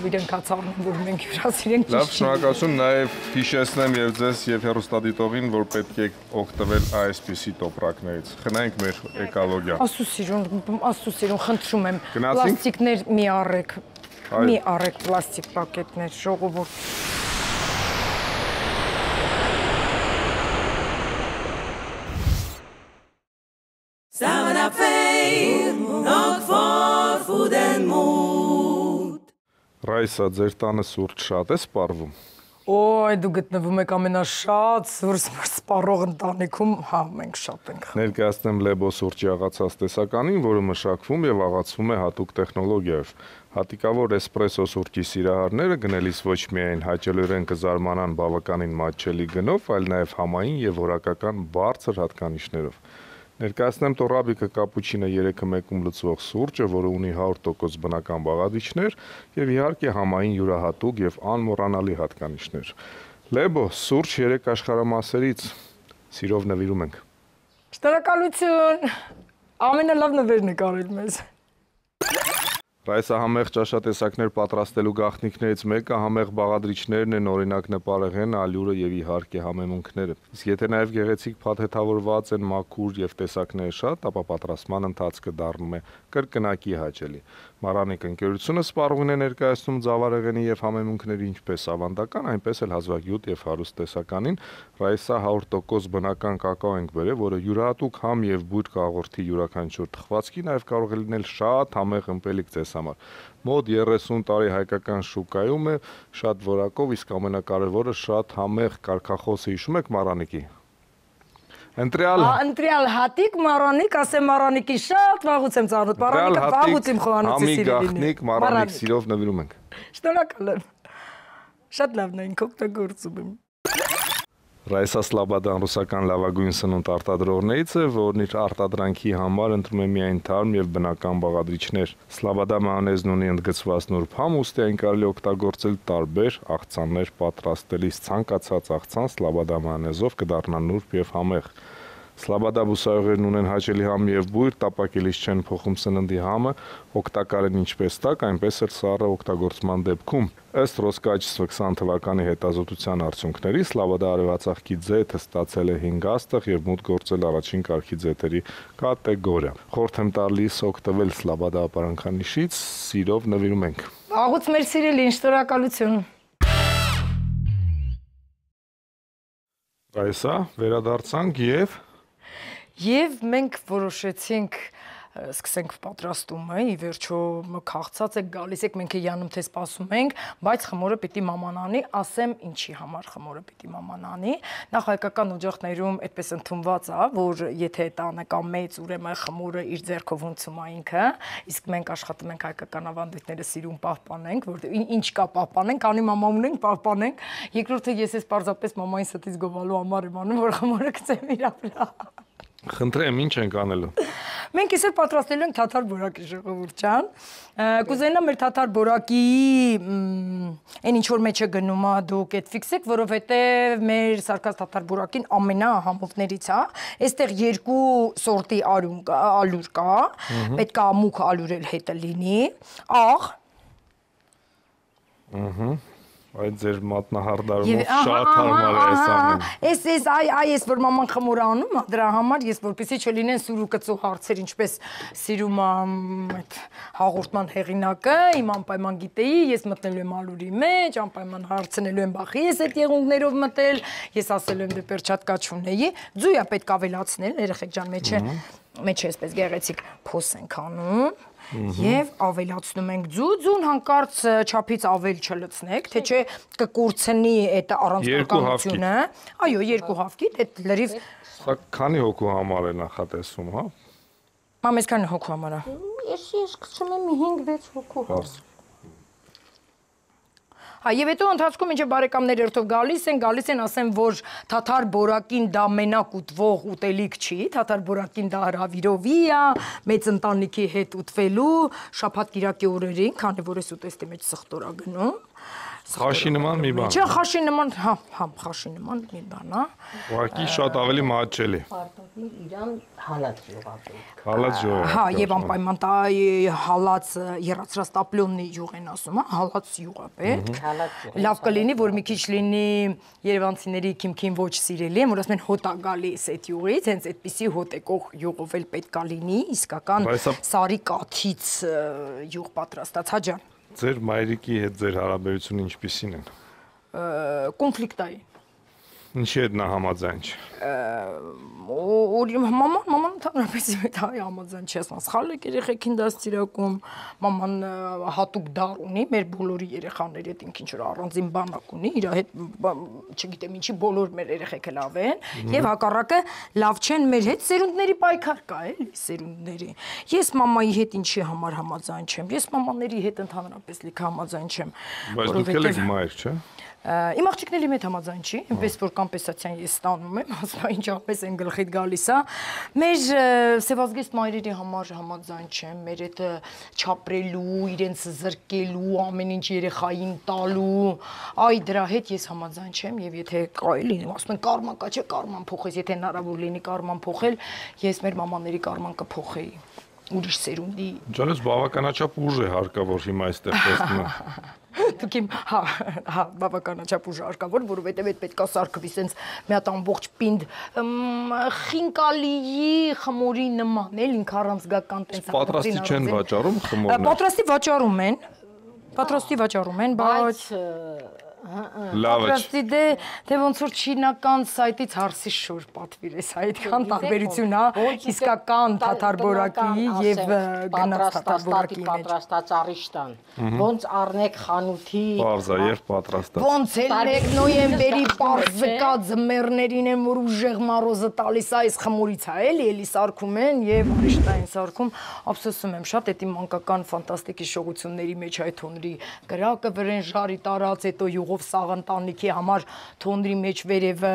իրենք հաց առնեն, որ մենք հյուրասիրենք ճիշտ։ Լավ, շնորհակալություն, նաև հիշեցնեմ եւ ձեզ եւ հեռուստադիտողին, որ պետք է օգտվել այսպիսի տոպրակներից։ Խնայենք մեր էկոլոգիա։ Աստծո սիրուն, աստծո սիրուն, խնդրում եմ, Գնացինք։ պլաստիկներ մի առեք։ Մի առեք պլաստիկ պակետներ, ժողովուրդ։ Ռայսա, ձեր տանը սուրճ շատ է սպառվում։ Ոյ, դու գտնվում եք ամենաշատ սուրճ սպառող ընտանիքում, հա, մենք շատ ենք։ Ներկայացնեմ Լեբո սուրճի աղացած տեսականին, որը մշակվում եւ աղացվում է հատուկ տեխնոլոգիայով։ Հատիկավոր էսպրեսո սուրճի սիրահարները գնելիս ոչ միայն հաճելորեն կզարմանան բավականին մատչելի գնով, այլ նաեւ համային եւ որակական բարձր հատկանիշներով։ Ներկայացնեմ Տորաբիկը կապուչինը երեքը մեկում լուծվող սուրճը, որը ունի հարյուր տոկոս բնական բաղադրիչներ եւ իհարկե համային յուրահատուկ եւ անմոռանալի հատկանիշներ։ Լեբո սուրճ երեք աշխարհամասերից սիրով նվիրում ենք։ Շնորհակալություն։ Ամենալավ նվերն եք արել մեզ։ Այս համեղ ճաշատեսակներ պատրաստելու գաղտնիքներից մեկը համեղ բաղադրիչներն են, օրինակ նպարեղեն, ալյուրը եւ իհարկե համեմունքները։ Իսկ եթե նաեւ գեղեցիկ փաթեթավորված են մաքուր եւ տեսակները շատ, ապա պատրաստման ընթացքը դառնում է կրկնակի հաճելի։ Մարանիկ ընկերությունը սպառողին է ներկայացնում ձավարեղենի եւ համեմունքների ինչպես ավանդական, այնպես էլ հազվագյուտ եւ հարուստ տեսականին։ Ռայսա հարյուր տոկոս բնական կակաո ենք բերել, որը յուրահատուկ համ եւ բույր կաղորդի յուրաքանչյուր թխվածքի նաեւ կարող է լինել շատ համեղ ըմպելիք ձեզ համար։ Մոտ երեսուն տարի հայկական շուկայում է, շատ որակով, իսկ ամենակարևորը շատ համեղ կարգախոսը հիշում եք Մարանիկի։ Ընտրյալ Ընտրյալ հատիկ Մարանիկ, ասեմ Մարանիկի շատ վաղուց եմ ծանոթ, Մարանիկը վաղուց իմ խոհանոցի սիրելին է։ Մարանիկ սիրով նվիրում ենք։ Շնորհակալ եմ։ Շատ լավն է, ինք օգտագործում եմ։ Ռայսա Սլաբադան ռուսական լավագույն սնունդ արտադրողներից է, որն իր արտադրանքի համար ընտրում է միայն թարմ եւ բնական բաղադրիչներ։ Սլաբադա մայոնեզն ունի ընդգծված նուրբ համ, ուստի այն կարելի օգտագործել տարբեր աղցաններ պատրաստելիս։ Ցանկացած աղցան Սլաբադա մայոնեզով կդառնա նուրբ եւ համեղ։ Սլաբադա բուսայուղերն ունեն հաճելի համ եւ բույր, տապակելիս չեն փոխում սննդի համը, օգտակար են ինչպես տաք, այնպես էլ սառը օգտագործման դեպքում։ Ըստ Ռոսկաչսվ քսան թվականի հետազոտության արդյունքների Սլաբադա արևածաղկի ձեթը ստացել է հինգ աստղ եւ մուտք գործել առաջին կարգի ձեթերի կատեգորիա։ Խորհուրդ եմ տալիս օգտվել Սլաբադա ապարանքանիշից, սիրով նվիրում ենք։ Աղուց մեր սիրելին, շնորհակալություն։ Ռայսա, վերադարձանք եւ Եվ մենք որոշեցինք սկսենք պատրաստումը, ի վերջո քաղցած եք գալիս եք, մենք Յանում թե սպասում ենք, բայց խմորը պիտի մաման անի, ասեմ ինչի համար խմորը պիտի մաման անի։ Նախ հայկական օջախներում այդպես ընդունված է, որ եթե տանը կա մեծ, ուրեմն խմորը իր ձեռքով ունցում է ինքը, իսկ մենք աշխատում ենք հայկական ավանդույթները սիրուն պահպանենք, որ ինչ կա պահպանենք, անի մամա ունենք, պահպանենք։ Երկրորդը ես ես պարզապես մամային ստից գովալու համար եմ անում, որ խմորը գցեմ իր վրա։ Խնդրեմ, ինչ ենք անելու։ Մենք իսեր պատրաստելու ենք թաթար բորակի, ժողովուրդ ջան։ Կուզենամ մեր թաթար բորակի այն ինչ որ մեջը գնում է դուք այդ ֆիքսեք, որովհետև մեր սարկած թաթար բորակին ամենահամովներից է։ Այստեղ երկու սորտի ալյուր կա, պետք է մուգ ալյուր էլ հետը լինի, աղ։ Ահա Այդ ձեր մատնահարդարումով շատ հարմար է այս ամեն։ Էս էս այ այ էս որ մաման խմոր անում է դրա համար, ես որպեսզի չլինեն սուր ու կծու հարցեր, ինչպես սիրում այդ հաղորդման հեղինակը, իմ անպայման գիտեի, ես մտնելու եմ ալուրի մեջ, անպայման հարցնելու եմ բախի, ես այդ եղունգներով մտել, ես ասելու եմ դե պերչատկա չունեի, ձույա պետք ավելացնել, երեխեք ջան, մեջը մեջը էսպես գեղեցիկ փոս ենք անում։ Եվ ավելացնում ենք ձու, ձուն հանկարծ չափից ավել չլցնեք, թե չէ կկուրցնի այդ առանցքականությունը։ Այո, երկու հավքիթ, այդ լրիվ։ Սա քանի հոգու համար է նախատեսում, հա։ Մամ, ես քանի հոգու համար է։ Ես ես կցում եմ հինգ-վեց հոգու։ Հա, եւ հետո ընթացքում ինչ բարեկամներ երթով գալիս են, գալիս են ասեն, որ թաթար բորակին դա մենակ ուտվող ուտելիք չի, թաթար բորակին դա հրավիրովի է, մեծ ընտանիքի հետ ուտվելու, շաբաթ կիրակի օրերին, քանի որ ես ուտեստի մեջ սխտորա գնում։ Խաշի նման մի բան։ Չէ, խաշի նման, հա, հա, խաշի նման մի բան է։ Ուղղակի շատ ավելի մատչելի։ Պարտադիր իրան հալած յուղ։ Հալած յուղ։ Հա, եւ անպայման տա հալած երացրած տապլոնի յուղ են ասում, հա, հալած յուղ է պետք։ Լավ կլինի, որ մի քիչ լինի երևանցիների քիմքին ոչ սիրելի են, որ ասում են հոտ է գալիս այդ յուղից, հենց այդպիսի հոտ եկող յուղով էլ պետք է լինի, իսկական սարի կաթից յուղ պատրաստած, հա ջան։ Ձեր մայրիկի հետ ձեր հարաբերությունը ինչպիսին են։ Կոնֆլիկտային։ Ինչի հետ նա համաձայն չէ։ Մաման, մաման ընդհանրապես իմ հետ համաձայն չի, ասում, սխալ եք երեխեքին դաստիարակում, մաման հատուկ դար ունի, մեր բոլորի երեխաների հետ ինքն ինչ-որ առանձին բանակ ունի, իր հետ չգիտեմ ինչի բոլոր մեր երեխեքը լավ են, եւ հակառակը լավ չեն մեր հետ, սերունդների պայքար կա, էլի, սերունդների։ Ես մամայի հետ ինչի համար համաձայն չեմ, ես մամաների հետ ընդհանրապես լիքը համաձայն չեմ։ Բայց դուք էլ եք մայր, չէ՞։ Իմ աղջիկների հետ համաձայն չի, այնպես որ կամպենսացիան ես ստանում եմ, ասում եմ ինչ ապես են գլխիդ գալիս է։ Մեր սևազգեստ մայրերի համար համաձայն չեմ, մեր այդ չապրելու, իրենց զրկելու, ամեն ինչ երեխային տալու, այ դրա հետ ես համաձայն չեմ եւ եթե կարելի լինի, ասում են կարման կա, չէ, կարման փոխես, եթե հնարավոր լինի կարման փոխել, ես մեր մամաների կարման կփոխեի։ Ուրիշ սերունդի։ Ջանես բավականաչափ ուժ է հարկավոր հիմա այստեղ տեսնում եմ։ Դուք իմ, հա, հա, բավականաչափ ուժ հարկավոր, որովհետև այդ պետքա սարքվի սենց մի հատ ամբողջ պինդ խինկալիի խմորի նման, էլ ինք առանցգական տենց։ Պատրաստի չեն վաճառում խմորներ։ Պատրաստի վաճառում են։ Պատրաստի վաճառում են, բայց Լավ է։ Պատրաստի դե դե ոնց որ չինական սայթից հարսի շուր պատվիրես, այդքան տարբերություն է իսկական թաթար բորակի եւ գնաց թաթար բորակի մեջ։ Պատրաստած արիշտան։ Ոնց առնեք խանութի։ Պարզա եւ պատրաստած։ Ոնց էլ մեկ նոյեմբերի պարզկա ձմեռներին են որ ուժեղ մարոզը տալիս է, այս խմորից է էլի, էլի սարքում են եւ արիշտային սարքում, ափսոսում եմ շատ այդ իմ մանկական ֆանտաստիկ հիշողությունների մեջ այդ հոնրի կրակը վրեն ժարի տարած, հետո գողով սաղ ընտանիքի համար թոնրի մեջ վերևը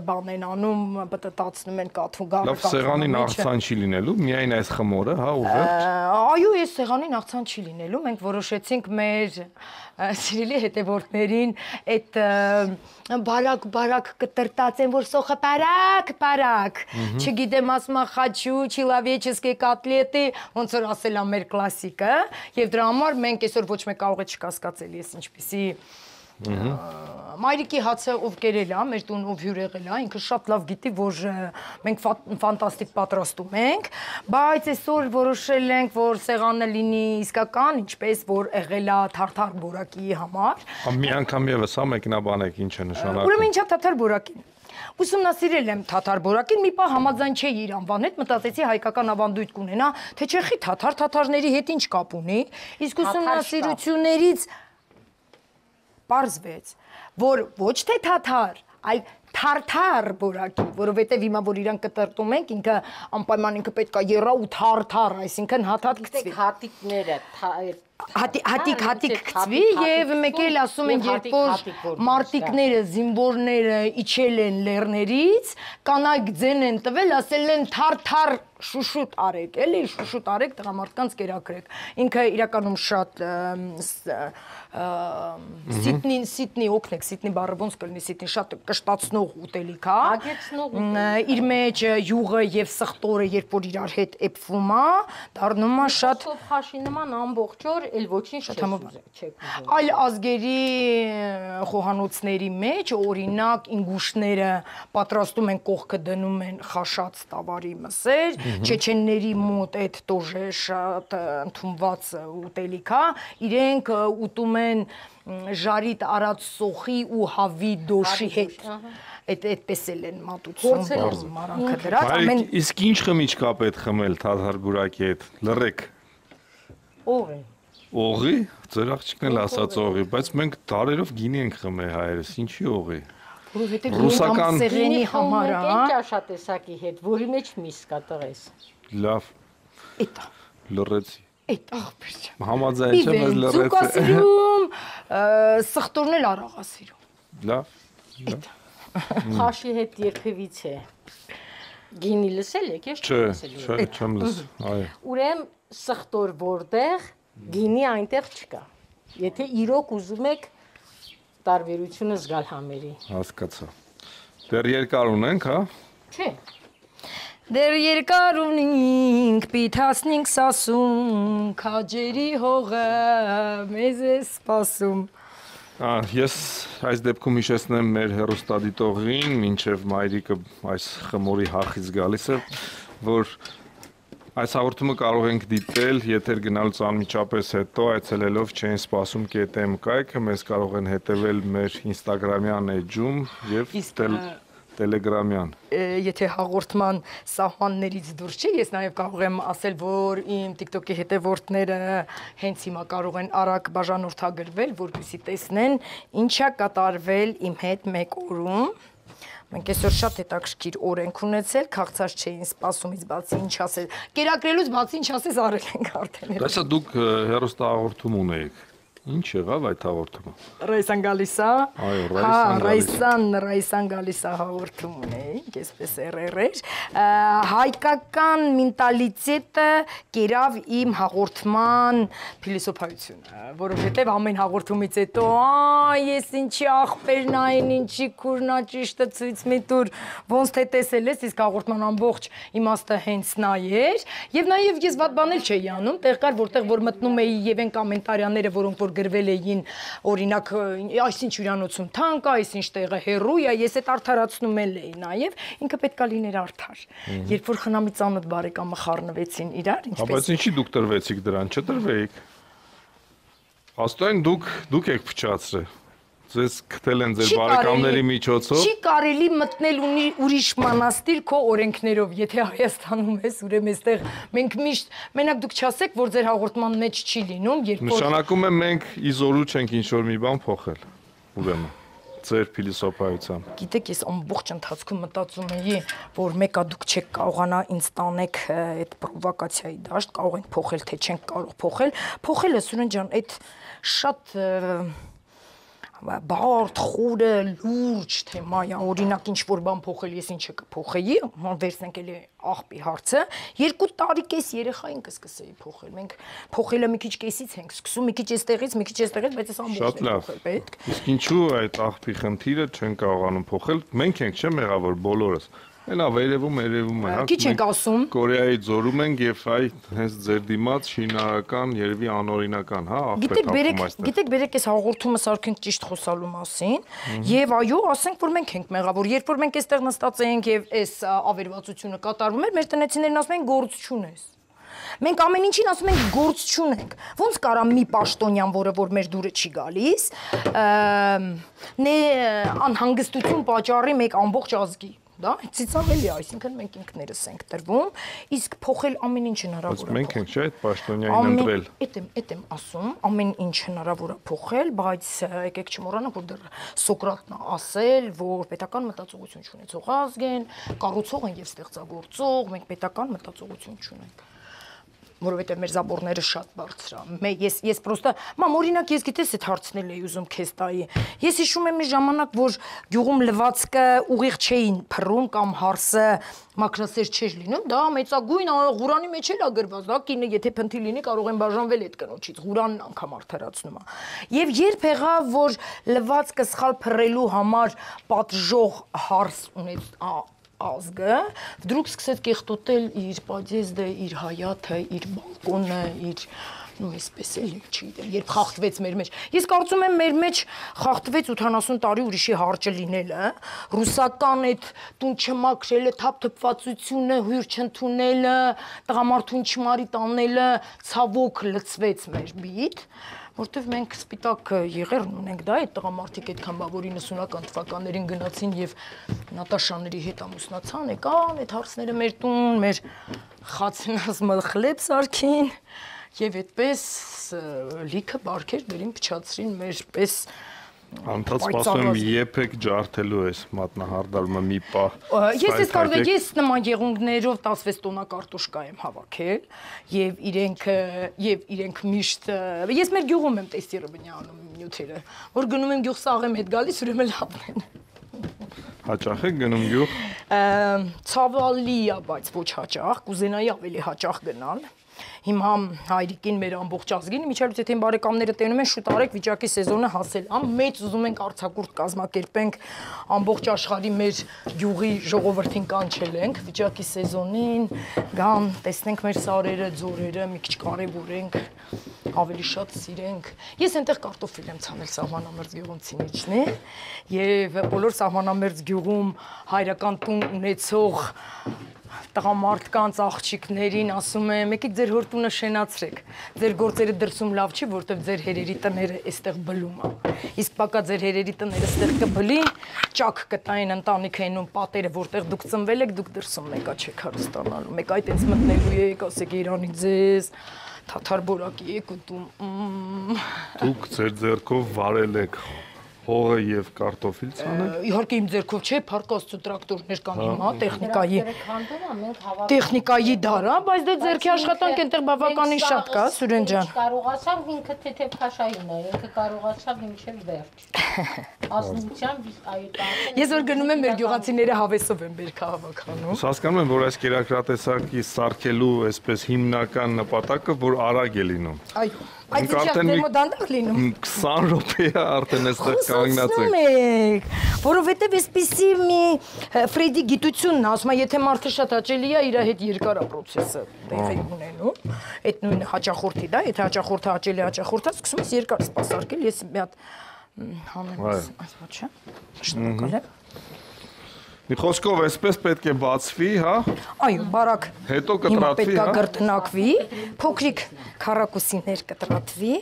բան են անում, պտտացնում են կաթում գարը։ Լավ, սեղանին աղցան չի լինելու, միայն այս խմորը, հա, ու վերջ։ Այո, այս սեղանին աղցան չի լինելու, մենք որոշեցինք մեր սիրելի հետևորդներին այդ բարակ-բարակ կտրտած են, որ սոխը բարակ-բարակ, չգիտեմ ասմա խաչու, չիլավեչեսկե կատլետի, ոնց որ ասել ա մեր կլասիկը, և դրա համար մենք այսօր ոչ մեկ կարող է չկասկածել ես ինչպիսի մայրիկի հացը ով կերել ա, մեր տուն ով հյուր եղել ա, ինքը շատ լավ գիտի, որ մենք ֆանտաստիկ պատրաստում ենք, բայց այսօր որոշել ենք, որ սեղանը լինի իսկական, ինչպես որ եղել ա թարթար բորակի համար։ Մի անգամ ևս հա մեկնաբանեք ինչ է նշանակում։ Ուրեմն ինչա թարթար բորակին։ Ուսումնասիրել եմ թաթար բորակին, մի պահ համաձայն չէի իր անվան հետ, մտածեցի հայկական ավանդույթ կունենա, թե չեխի թաթար թաթարների հետ ինչ կապ ունի, իսկ ուսումնասիրություններից պարզվեց, որ ոչ թե թաթար, այլ թարթար բորակի, որովհետև հիմա որ իրան կտրտում ենք, ինքը անպայման ինքը պետք է եռա ու թարթար, այսինքն հատ-հատ գցվի։ Հատիկները հատիկ-հատիկ գցվի եւ մեկ էլ ասում են, երբ որ մարտիկները, զինվորները իջել են լեռներից, կանայք ձեն են տվել, ասել են թարթար շուշուտ արեք, էլի շուշուտ արեք, տղամարդկանց կերակրեք։ Ինքը իրականում շատ սիտնին, սիտնի օգնեք, սիտնի բառը ոնց կլինի, սիտնի շատ կշտացնող ուտելիք է։ Ագեցնող իր մեջ յուղը եւ սխտորը, երբ որ իրար հետ էփվում է, դառնում է շատ խաշի նման ամբողջ օր, էլ ոչինչ չեք։ Այլ ազգերի խոհանոցների մեջ, օրինակ, ինգուշները պատրաստում են կողքը դնում են խաշած տավարի մսեր, չեչենների մոտ այդ տոժը շատ ընդունված ուտելիք է, իրենք ուտում են ժարիտ արած սոխի ու հավի դոշի հետ, այդպես էլ են մատուցում 마րանքը դրած։ Իսկ ինչ խմիչք կա պետք խմել թաթար բուրակի հետ, լռեք։ Օղի։ Օղի, ձեր աղջիկն էլ ասաց օղի, բայց մենք դարերով գինի ենք խմել հայերս, ինչի օղի։ Ռուսական սեղանի համար է, այն ճաշատեսակի հետ, որի մեջ միս կա տղես։ Լավ։ Էտա։ Լռեցի։ Էտ աղբեր չեմ։ Համաձայն չեմ, ես լռեցի։ Ձուկ ասիրում, սխտորն էլ արաղ ասիրում։ Լավ։ Էտա։ Խաշի հետ երբևից է։ Գինի լսել եք, ես չեմ լսել։ Չէ, չեմ լսել, այո։ Ուրեմն սխտոր որտեղ, գինի այնտեղ չկա։ Եթե իրոք ուզում եք տարբերությունը զգալ համերի։ Հասկացա։ Դեռ երկար ունենք, հա։ Չէ։ Դեռ երկար ունենք, պիթասնինք սասում, քաջերի հողը մեզ է սպասում։ Ես այս դեպքում հիշեցնեմ մեր հեռուստադիտողին, մինչև մայրիկը այս խմորի հախից գալիս է, որ այս հաղորդումը կարող ենք դիտել եթեր գնալուց անմիջապես հետո այցելելով Չեն սպասում կետեմ կայքը, մեզ կարող են հետևել մեր ինստագրամյան էջում և տելեգրամյան։ Եթե հաղորդման սահմաններից դուրս չի, ես նաև կարող եմ ասել, որ իմ TikTok-ի հետևորդները հենց հիմա կարող են արագ բաժանորդագրվել, որպեսզի տեսնեն ինչա կատարվել իմ հետ մեկ օրում։ Մենք այսօր շատ հետաքրքիր օր ենք ունեցել, քաղցած չէին սպասումից բացի ինչ ասել, կերակրելուց բացի ինչ ասես արել ենք արդեն։ Դասա դուք հեռուստահաղորդում ունեիք։ Ինչ եղավ այդ հաղորդումը։ Ռայսան գալիս է։ Այո, Ռայսան, Ռայսան գալիս է հաղորդում ունեինք, այսպես էրեր։ Հայկական մենտալիտետը կերավ իմ հաղորդման փիլիսոփայությունը, որովհետև ամեն հաղորդումից հետո, այ ես ինչի աղբերն այն, ինչի քուրնա ճիշտը ցույց մի տուր, ոնց թե տեսել ես, իսկ հաղորդման ամբողջ իմաստը հենց նա էր, եւ նաեւ ես վատ բաներ չէի անում, տեղ կար որտեղ որ մտնում էի եւ այն կոմենտարիաները, որոնք որ գրվել էին, օրինակ, այսինչ հյուրանոցում թանկ է, այսինչ տեղը հեռու է, ես այդ արդարացնում էլ էի նաև, ինքը պետք է լիներ արդար։ Երբ որ խնամի ծանոթ բարեկամը խառնվեցին իրար, ինչպես։ Բայց ինչի դուք տրվեցիք դրան, չտրվեիք։ Հաստատ դուք դուք եք փչացրել։ Ձեզ գտել են ձեր բարեկամների միջոցով։ Չի կարելի մտնել ուրիշ մանաստիր քո օրենքներով, եթե Հայաստանում ես, ուրեմն այստեղ մենք միշտ մենակ դուք չասեք, որ ձեր հաղորդման մեջ չի լինում, երբ որ նշանակում է մենք իզորու չենք ինչ-որ մի բան փոխել։ Ուրեմն ձեր փիլիսոփայությամբ։ Գիտեք, ես ամբողջ ընթացքում մտածում էի, որ մեկա դուք չեք կարողանա ինձ տանեք այդ պրովոկացիայի դաշտ, կարող ենք փոխել, թե չենք կարող փոխել։ Փոխելը Սուրեն ջան, այդ շատ բարդ, խորը, լուրջ թեմա է, օրինակ ինչ-որ բան փոխել, ես ինչը կփոխեի, վերցնենք էլի աղբի հարցը, երկու տարի կես երեխային կսկսեի փոխել, մենք փոխելը մի քիչ կեսից ենք սկսում, մի քիչ էստեղից, մի քիչ էստեղից, բայց այս ամբողջն է փոխել պետք։ Իսկ ինչու այդ աղբի խնդիրը չեն կարողանում փոխել, մենք ենք չէ՞ մեղավոր բոլորս։ Այլ ավերևում, երևում է, հա։ Քիչ ենք ասում։ Կորեայի ձորում ենք եւ այ հենց ձեր դիմաց շինարարական, երևի անօրինական, հա, աղբետ հապում այստեղ։ Գիտեք, բերեք այս հաղորդումը սարքենք ճիշտ խոսալու մասին, եւ այո, ասենք, որ մենք ենք մեղավոր, երբ որ մենք այստեղ նստած ենք եւ այս ավերվածությունը կատարվում էր, մեր տնեցիներն ասում են գործ չունես։ Մենք ամեն ինչին ասում ենք գործ չունենք։ Ոնց կարա մի պաշտոնյան, որը որ մեր դուրը չի գալիս, նե անհանգստություն պատճառի մեկ ամբողջ ազգի։ Դա ծիծաղելի է, այսինքն մենք ինքներս ենք տրվում, իսկ փոխել ամեն ինչ հնարավոր է։ Մենք ենք չէ՞ այդ պաշտոնյային ընտրել։ Էդ եմ, էդ եմ ասում, ամեն ինչ հնարավոր է փոխել, բայց եկեք չմոռանանք, որ դեռ Սոկրատն է ասել, որ պետական մտածողություն չունեցող ազգ են, կառուցող են եւ ստեղծագործող, մենք պետական մտածողություն չունենք։ Որովհետև մեր զաբորները շատ բարձր է։ Ես ես պրոստը, մամ, օրինակ ես գիտես այդ հարցն էի ուզում քեզ տայի։ Ես հիշում եմ մի ժամանակ, որ գյուղում լվացքը ուղիղ չէին փռում կամ հարսը մակրասեր չէր լինում, դա մեծագույն ղուրանի մեջ էլ է գրված, դա կինը եթե փնթի լինի կարող են բաժանվել այդ կնոջից, ղուրանն անգամ արդարացնում է։ Եվ երբ եղավ, որ լվացքը սխալ փռելու համար պատժող հարս ունեց ազգը, վդրուկ սկսեց կեղտոտել իր պադեզդը, իր հայաթը, իր բալկոնը, իր, նո այսպես էլ չգիտեմ, երբ խախտվեց մեր մեջ։ Ես կարծում եմ մեր մեջ խախտվեց ութանասուն տարի ուրիշի հարճը լինելը, ռուսական այդ տուն չմաքրելը, թափթփվածությունը, հույր չընդունելը, տղամարդուն չմարի տանելը, ցավոք լցվեց մեր բիտ, որտեվ մենք սպիտակ եղերն ունենք, դա այդ տղամարդիկ այդքան բա որ իննսունական թվականներին գնացին եւ Նատաշաների հետ ամուսնացան, եկան այդ հարցները մեր տուն, մեր խացնած մխլեբ սարքին եւ այդպես լիքը բարքեր դերին փչացրին մեր պես Անդադ սպասում եմ եփեք ջարդելու ես մատնահարդալումը մի պահ։ Ես ես կարող եմ ես նման եղունգներով տասնվեց տոննա կարտոշկա եմ հավաքել եւ իրենք եւ իրենք միշտ ես մեր գյուղում եմ տեստիրը անում նյութերը, որ գնում եմ գյուղ սաղեմ հետ գալիս ուրեմն լավն են։ Հաճախ եք գնում գյուղ։ Ցավալի է, բայց ոչ հաճախ, կուզենայի ավելի հաճախ գնալ։ Հիմա հայրիկին մեր ամբողջ ազգին միջալուց եթե բարեկամները տենում են շուտ արեք վիճակի սեզոնը հասել ամ մեծ ուզում ենք արձակուրդ կազմակերպենք ամբողջ աշխարհի մեր գյուղի ժողովրդին կանչել ենք վիճակի սեզոնին գան տեսնենք մեր սարերը ձորերը մի քիչ կարևորենք ավելի շատ սիրենք ես այնտեղ կարտոֆիլ եմ ցանել սահմանամերձ գյուղունցինիչնի եւ բոլոր սահմանամերձ գյուղում հայրական տուն ունեցող տղամարդկանց աղջիկներին ասում եմ, եկեք ձեր հոր տունը շենացրեք, ձեր գործերը դրսում լավ չի, որտեվ ձեր հերերի տները այստեղ բլում է, իսկ պակա ձեր հերերի տները այստեղ կբլի, ճակ կտային ընտանիքը ենում պատերը, որտեղ դուք ծնվել եք, դուք դրսում մեկա չեք հարստանալու, մեկ այդ ինձ մտնելու եք, ասեք Իրանի ձեզ, թաթար բորակի եք ուտում։ Դուք ձեր ձեռքով վարել եք հողը եւ կարտոֆիլ ցանել։ Իհարկե իմ ձեռքով չէ, փարկաստու տրակտորներ կան հիմա, տեխնիկայի։ Տեխնիկայի դարա, բայց դե ձեռքի աշխատանք այնտեղ բավականին շատ կա, Սուրեն ջան։ Կարողացավ ինքը թեթև քաշային է, ինքը կարողացավ մինչև վերջ։ Ասնությամբ այդ Ես որ գնում եմ մեր գյուղացիները հավեսով են բերքա հավաքանում։ Հասկանում եմ, որ այս կերակրատեսակի սարքելու այսպես հիմնական նպատակը, որ արագ է լինում։ Այո։ Այդ իջակներում դանդաղ լինում։ քսան րոպե արդեն այստեղ կանգնած եք։ Որովհետև այսպիսի մի Ֆրեդի գիտությունն է, ասում է, եթե մարդը շատ հաճելի է, իր հետ երկար է process-ը տեղի ունենում։ Այդ նույնը հաճախորդի, դա, եթե հաճախորդը հաճելի հաճախորդը, սկսում ես երկար սպասարկել, ես մի հատ հանեմ այս ոչը։ Շնորհակալ եմ։ Մի խոսքով այսպես պետք է բացվի, հա։ Այո, բարակ։ Հետո կտրատվի, հա։ Պետք է կրտնակվի, փոքրիկ քառակուսիներ կտրատվի։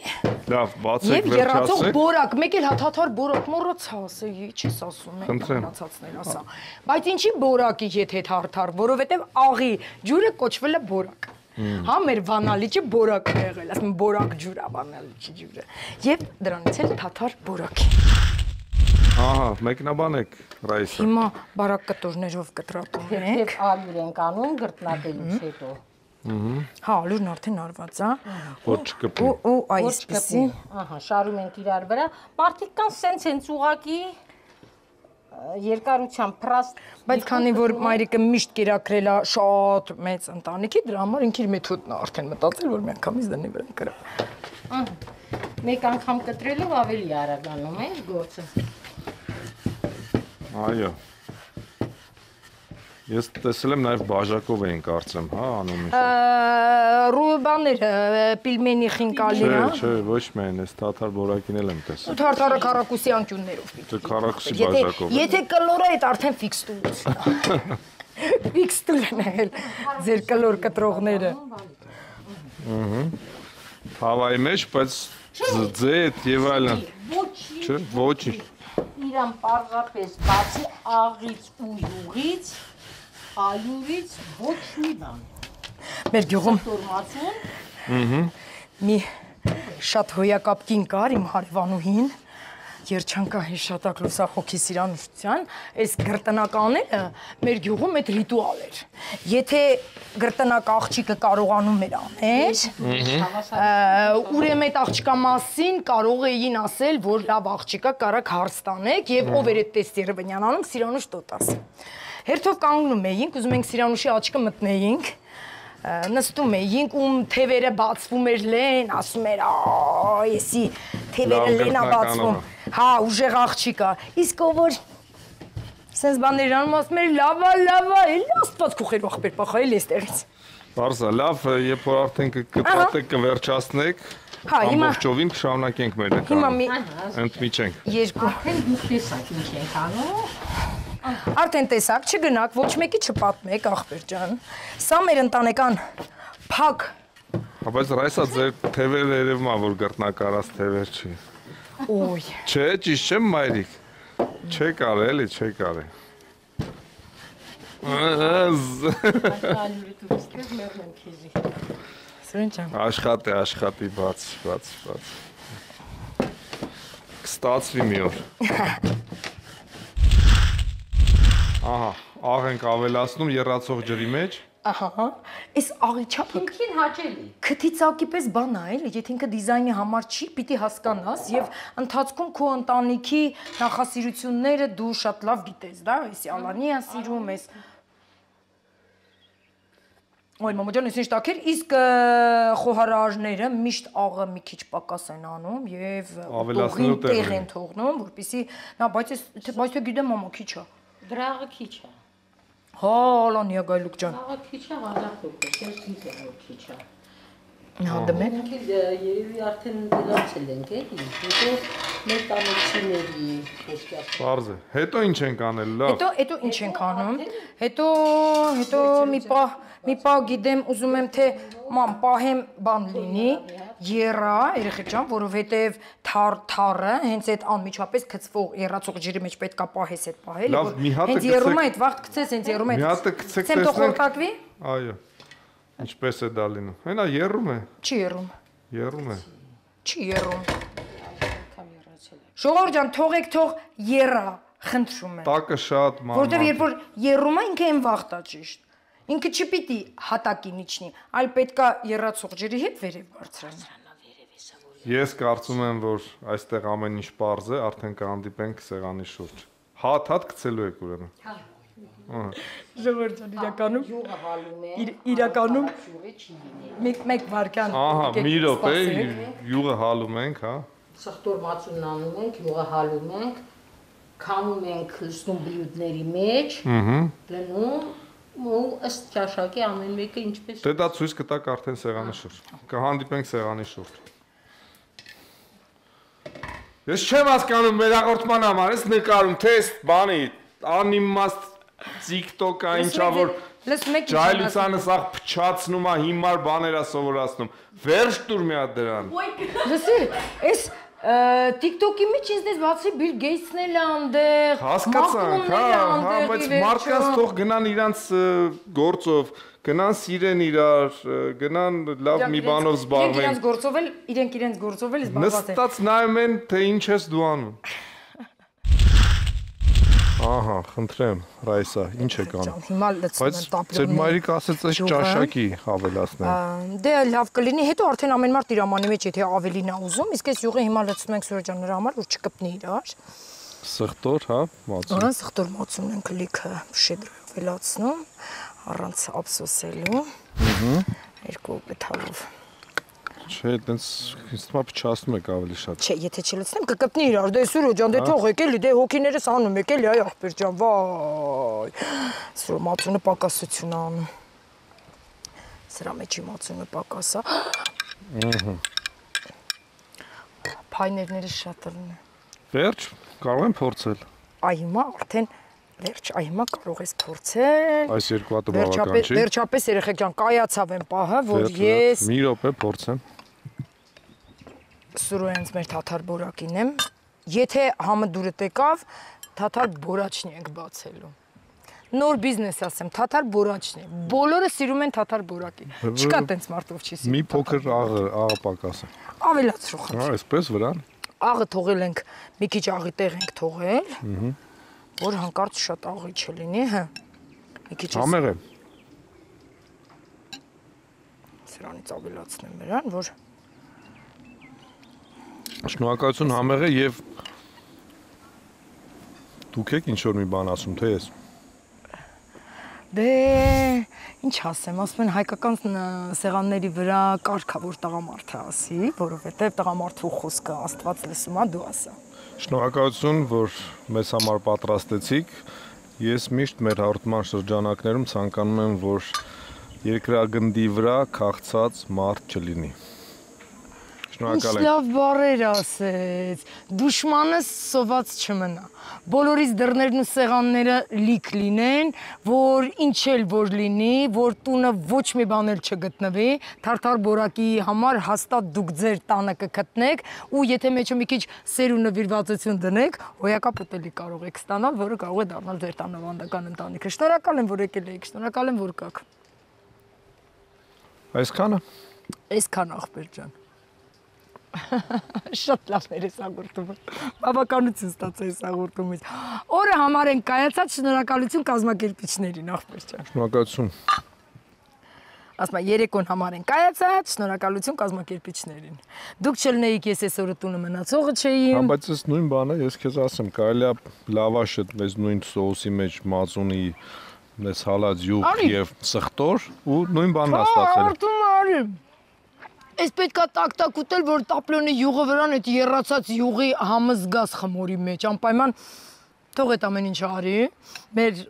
Լավ, բացեք, եւ երացող բորակ, մեկ էլ հաթաթար բորակ մոռացա, ասեի, չես ասում եք, մնացածներ ասա։ Բայց ինչի բորակի հետ հետ հարթար, որովհետեւ աղի ջուրը կոչվել է բորակ։ Հա մեր վանալիճը բորակ է եղել, ասում բորակ ջուր է վանալիճի ջուրը։ Եվ դրանից էլ թաթար բորակի։ Ահա, մեկնաբանեք, Ռայիսա։ Հիմա բարակ կտորներով կտրատում ենք։ Եվ ալյուր ենք անում գրտնակելուց հետո։ Հա, ալուրն արդեն արված է։ Որ չկպի։ Ու այսպեսի։ Ահա, շարում ենք իրար վրա։ Մարդիկ կան սենց-սենց ուղակի երկարության պրաստ։ Բայց քանի որ մայրիկը միշտ կերակրել է շատ մեծ ընտանիքի, դրա համար ինքը իր մեթոդն է արդեն մտածել, որ միանգամից դնի վրան կրա։ Մեկ անգամ կտրելով ավելի արագանում է գործը։ Այո։ Ես տեսել եմ նաև բաժակով էին կարծեմ, հա, անունը։ Ռուբաները պիլմենի խինկալի, հա։ Չէ, չէ, ոչ միայն, ես թաթար բորակին էլ եմ տեսել։ Ու թարթարը քառակուսի անկյուններով։ Դե քառակուսի բաժակով։ Եթե կլորը այդ արդեն ֆիքս տուլություն է։ Ֆիքս տուլ են եղել ձեր կլոր կտրողները։ Ահա։ Հավայի մեջ, բայց ձեթ եւ այլն։ Չէ, ոչինչ։ Իրան պարզապես բացի աղից ու յուղից, ալյուրից ոչ մի բան։ Մեր գյուղում տորմացուն մի շատ հոյակապ կին կար իմ հարևանուհին, երջանկա հիշատակ լուսախոգի սիրանուշության, այս գրտնականները մեր գյուղում այդ ռիտուալ էր։ Եթե գրտնակ աղջիկը կարողանում էր անել, ուրեմն այդ աղջկա մասին կարող էին ասել, որ լավ աղջիկա կարակ հարց տանեք եւ ով էր այդ տեստերը բնյանանում սիրանուշ տոտաս։ Հերթով կանգնում էինք, ուզում ենք սիրանուշի աչքը մտնեինք, նստում էինք, ում թևերը բացվում էր լեն, ասում էր, այ, եսի թևերը լենա բացվում, հա, ուժեղ աղջիկա, իսկ ով որ սենց բաներ անում, ասում էր, լավա, լավա, էլի աստված քուխեր ախպեր պախա, էլի էստեղից։ Բարսա, լավ, երբ որ արդեն կկտատեք, կվերջացնեք, ամբողջովին կշարունակենք մեր էկրանը, ընդմիջենք։ երկու։ Արդեն դուք տեսակ ինչ ենք անում։ Արդեն տեսակ, չգնաք, ոչ մեկի չպատմեք, ախպեր ջան։ Սա մեր ընտանեկան փակ։ Բայց ռայսա ձեր թևերը երևում է, որ գրտնակարած թևեր չի։ Ոյ։ Չէ, ճիշտ չեմ մայրիկ։ Չէ կարել, էլի չէ կարել։ Աշխատի, աշխատի, բաց, բաց, բաց։ Կստացվի մի օր։ Ահա, աղ ենք ավելացնում եռացող ջրի մեջ։ Ահա, այս աղի չափը ինքին հաճելի։ քթիցակի պես բան է, էլի, եթե ինքը դիզայնի համար չի, պիտի հասկանաս եւ ընթացքում քո ընտանիքի նախասիրությունները դու շատ լավ գիտես, դա, էս ալանի է սիրում, էս Ոյ մամա ջան, ես ինչ տակեր, իսկ խոհարարները միշտ աղը մի քիչ պակաս են անում եւ տողին տեղ են թողնում, որպեսզի նա բայց ես բայց թե գիտեմ մամա քիչ է։ Դրաղը քիչ է։ Հա, լանիա գայլուկ ջան։ Աղը քիչ է, հալախոք է, ես գիտեմ որ քիչ է։ Հա դեմեք։ Մենք երևի արդեն դրացել ենք, էլի, հետո մեր տանիքների ոստյաց։ Բարձ է։ Հետո ինչ ենք անել, լավ։ Հետո հետո ինչ ենք անում։ Հետո հետո մի պահ մի պահ գիտեմ, ուզում եմ թե ման պահեմ բան լինի, երա, երեխեք ջան, որովհետև թար թարը հենց այդ անմիջապես գծվող երացող ջրի մեջ պետքա պահես այդ պահել, որ հենց երում է այդ վաղ գցես, հենց երում է։ Մի հատ գցեք տեսնենք։ Ցեմ թողտակվի։ Այո։ Ինչպես է դա լինում։ Հենա երում է։ Չի երում։ Երում է։ Չի երում։ Ժողովուրդ ջան, թողեք թող երա, խնդրում եմ։ Տակը շատ ման։ Որտեվ երբ որ երում է, ինքը այն վաղտա ճիշտ։ Ինքը չպիտի հատակին իջնի, այլ պետքա երացող ջրի հետ վերև բարձրանա։ Ես կարծում եմ, որ այստեղ ամեն ինչ պարզ է, արդեն կհանդիպենք սեղանի շուրջ։ Հատ-հատ գցելու եք ուրեմն։ Ահա։ Ժողովուրդ ջան, իրականում Յուղը հալում է։ Իրականում մեկ վարքան։ Ահա, մի րոպե, յուղը հալում ենք, հա։ Սխտոր մածունն անում ենք, յուղը հալում ենք, քամում ենք լցնում բլյուդների մեջ, լնում ու ըստ ճաշակի ամեն մեկը ինչպես։ Դե դա ցույց կտակ արդեն սեղանի շուրջ։ Կհանդիպենք սեղանի շուրջ։ Ես չեմ հասկանում մեր հաղորդման համար, ես նկարում թեստ բանի, անիմաստ TikTok-ա ինչա որ ջայլությանը սաղ փչացնում է, հիմար բաներ է սովորացնում։ Վերջ տուր մի հատ դրան։ Լսի, այս TikTok-ի մեջ ինձ դες բացի Bill Gates-ն էլ անդեղ, հասկացանք, հա, հա, բայց մարդկանց թող գնան իրանց գործով, գնան սիրեն իրար, գնան լավ մի բանով զբաղվեն։ Իրենց գործով էլ, իրենք իրենց գործով էլ զբաղված են։ Նստած նայում են, թե ինչ ես դու անում։ Ահա, խնդրեմ, Ռայսա, ինչ եք անում։ Հիմա լցնում եմ տապլոնի։ Բայց ձեր մայրիկը ասեց այս ճաշակի ավելացնեմ։ Դե լավ կլինի, հետո արդեն ամեն մարդ իր ամանի մեջ եթե ավելին է ուզում, իսկ այս յուղը հիմա լցնում ենք Սուրեջան նրա համար, որ չկպնի իրար։ Սխտոր, հա, մածուն։ Ահա, սխտոր մածուն ենք լիքը շեդրով ավելացնում, առանց ափսոսելու։ Ահա։ Երկու գթալով։ Չէ, այտենց ինձ թվում է փչացնում եք ավելի շատ։ Չէ, եթե չլցնեմ կկպնի իրար, դե Սուրեջան, դե թողեք էլի, դե հոգիներս անում եք էլի, այ ախպեր ջան, վայ։ Սրա մածունը պակասություն է անում։ Սրա մեջի մածունը պակաս է։ Ահա։ Փայներները շատ լն է։ Վերջ, կարող եմ փորձել։ Այ հիմա արդեն վերջ, այ հիմա կարող ես փորձել։ Այս երկու հատը բավական չի։ Վերջապես երեխեք ջան, կայացավ եմ պահը, որ ես մի րոպե փորձեմ։ Սուրոյանց մեր թաթար բորակին եմ։ Եթե համը դուրը տեկավ, թաթար բորաչնի ենք բացելու։ Նոր բիզնես ասեմ, թաթար բորաչնի։ Բոլորը սիրում են թաթար բորակի։ Չկա տենց մարդով չի սիրում։ Մի փոքր աղը, աղը պակասը։ Ավելացրու խնդրեմ։ Հա, այսպես վրան։ Աղը թողել ենք, մի քիչ աղի տեղ ենք թողել։ Ահա։ Որ հանկարծ շատ աղի չլինի, հա։ Մի քիչ համեղ է։ Սրանից ավելացնեմ նրան, որ Շնորհակալություն համեղ է եւ դուք եք ինչ որ մի բան ասում, թե ես։ Դե ինչ ասեմ, ասում են հայկական սեղանների վրա կարգա որ տղամարդը ասի, որովհետեւ տղամարդու խոսքը Աստված լսում է, դու ասա։ Շնորհակալություն, որ մեզ համար պատրաստեցիք։ Ես միշտ մեր հաղորդման շրջանակներում ցանկանում եմ, որ երկրագնդի վրա քաղցած մարդ չլինի։ Շնորհակալ եմ։ Ինչ լավ բառեր ասեց։ Դուշմանս սոված չմնա։ Բոլորիս դռներն ու սեղանները լիք լինեն, որ ինչ էլ որ լինի, որ տունը ոչ մի բան էլ չգտնվի, թարթար բորակի համար հաստատ դուք ձեր տանը կգտնեք ու եթե մեջը մի քիչ սեր ու նվիրվածություն դնեք, հոյակապ ուտելի կարող եք ստանալ, որը կարող է դառնալ ձեր տան ավանդական ընտանիքը։ Շնորհակալ եմ, որ եկել եք, շնորհակալ եմ, որ կաք։ Այսքանը։ Այսքան ախպեր ջան։ Շատ լավներ է հաղորդումը։ Բավականություն ստացա այս հաղորդումից։ Օրը համար են կայացած, շնորհակալություն կազմակերպիչներին, ախպեր ջան։ Շնորհակալություն։ Ասма երեկոն համար են կայացած, շնորհակալություն կազմակերպիչներին։ Դուք չլնեիք, ես այս օրը տունը մնացողը չէի։ Հա, բայց այս նույն բանը ես քեզ ասեմ, կարելի է լավաշը այս նույն սոուսի մեջ մածունի, այս հալած յուղ եւ սխտոր ու նույն բանն է ստացել։ Արտում արի։ Այս պետքա տակ-տակ ուտել, որ տապլոնի յուղը վրան այդ երացած յուղի համը զգաս խմորի մեջ, անպայման թող այդ ամեն ինչ արի, մեր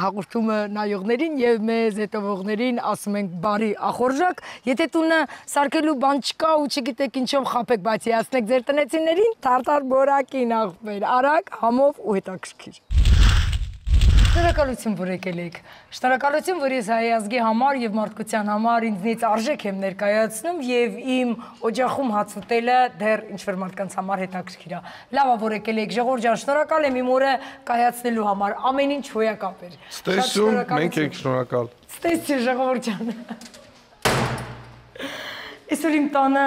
հաղորդումը նայողներին եւ մեզ հետևողներին ասում ենք բարի ախորժակ, եթե տունը սարքելու բան չկա ու չգիտեք ինչով խաբեք, բայց հիացնեք ձեր տնեցիներին, թարթար բորակին ախպեր, արագ, համով ու հետաքրքիր։ Շնորհակալություն, որ եկել եք։ Շնորհակալություն, որ ես հայ ազգի համար եւ մարդկության համար ինձնից արժեք եմ ներկայացնում եւ իմ օջախում հաց ուտելը դեռ ինչ-որ մարդկանց համար հետաքրքիր է։ Լավ է, որ եկել եք, Ժողովուրդ ջան, շնորհակալ եմ իմ օրը կայացնելու համար։ Ամեն ինչ հոյակապ էր։ Ստեսում, մենք եք շնորհակալ։ Ստեսի, Ժողովուրդ ջան։ Այսօր իմ տանը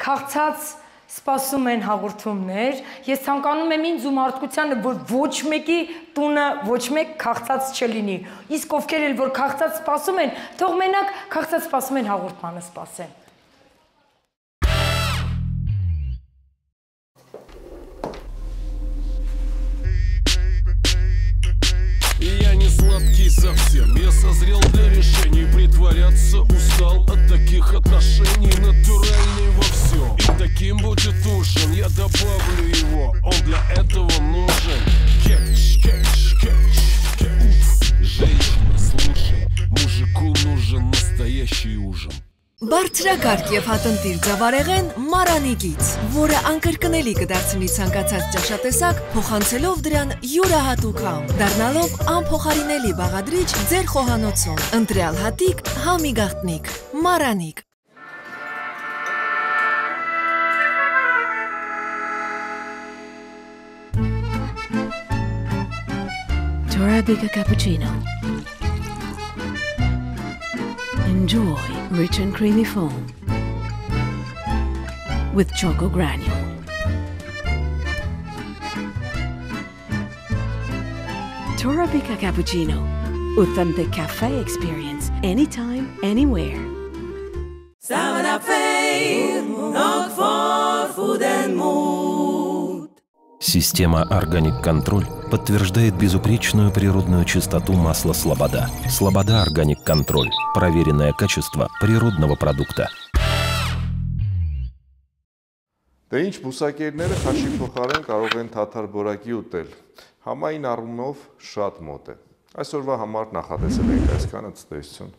քաղցած սպասում են հաղորդումներ, ես ցանկանում եմ ինձ ու մարդկությանը, որ ոչ մեկի տունը ոչ մեկ քաղցած չլինի, իսկ ովքեր էլ որ քաղցած սպասում են, թող մենակ քաղցած սպասում են հաղորդմանը սպասեն։ Я не сладкий совсем, я созрел для решений. Притворяться устал от таких отношений. Натуральный во всем, и таким будет ужин. Я добавлю его, он для этого нужен. Кетч, кетч, кетч, кетч. Женщина, слушай, мужику нужен настоящий ужин. Բարձրակարգ եւ հատնտիր ձավարեղեն մարանիկից, որը անկրկնելի կդարձնի ցանկացած ճաշատեսակ, փոխանցելով դրան յուրահատուկ համ, դառնալով անփոխարինելի բաղադրիչ ձեր խոհանոցում։ Ընտրյալ հատիկ, համի գաղտնիք, մարանիկ։ Arabica cappuccino. Enjoy rich and creamy foam with choco granule. Torabika cappuccino. Authentic cafe experience anytime, anywhere. Система Organic Control подтверждает безупречную природную чистоту масла Слобода. Слобода Organic Control. Проверенное качество природного продукта. Դե ինչ բուսակերները խաշի փոխարեն կարող են թաթար բորակի ուտել։ Համային առումով շատ մոտ է։ Այսօրվա համար նախատեսել ենք այսքանը, ցտեսություն։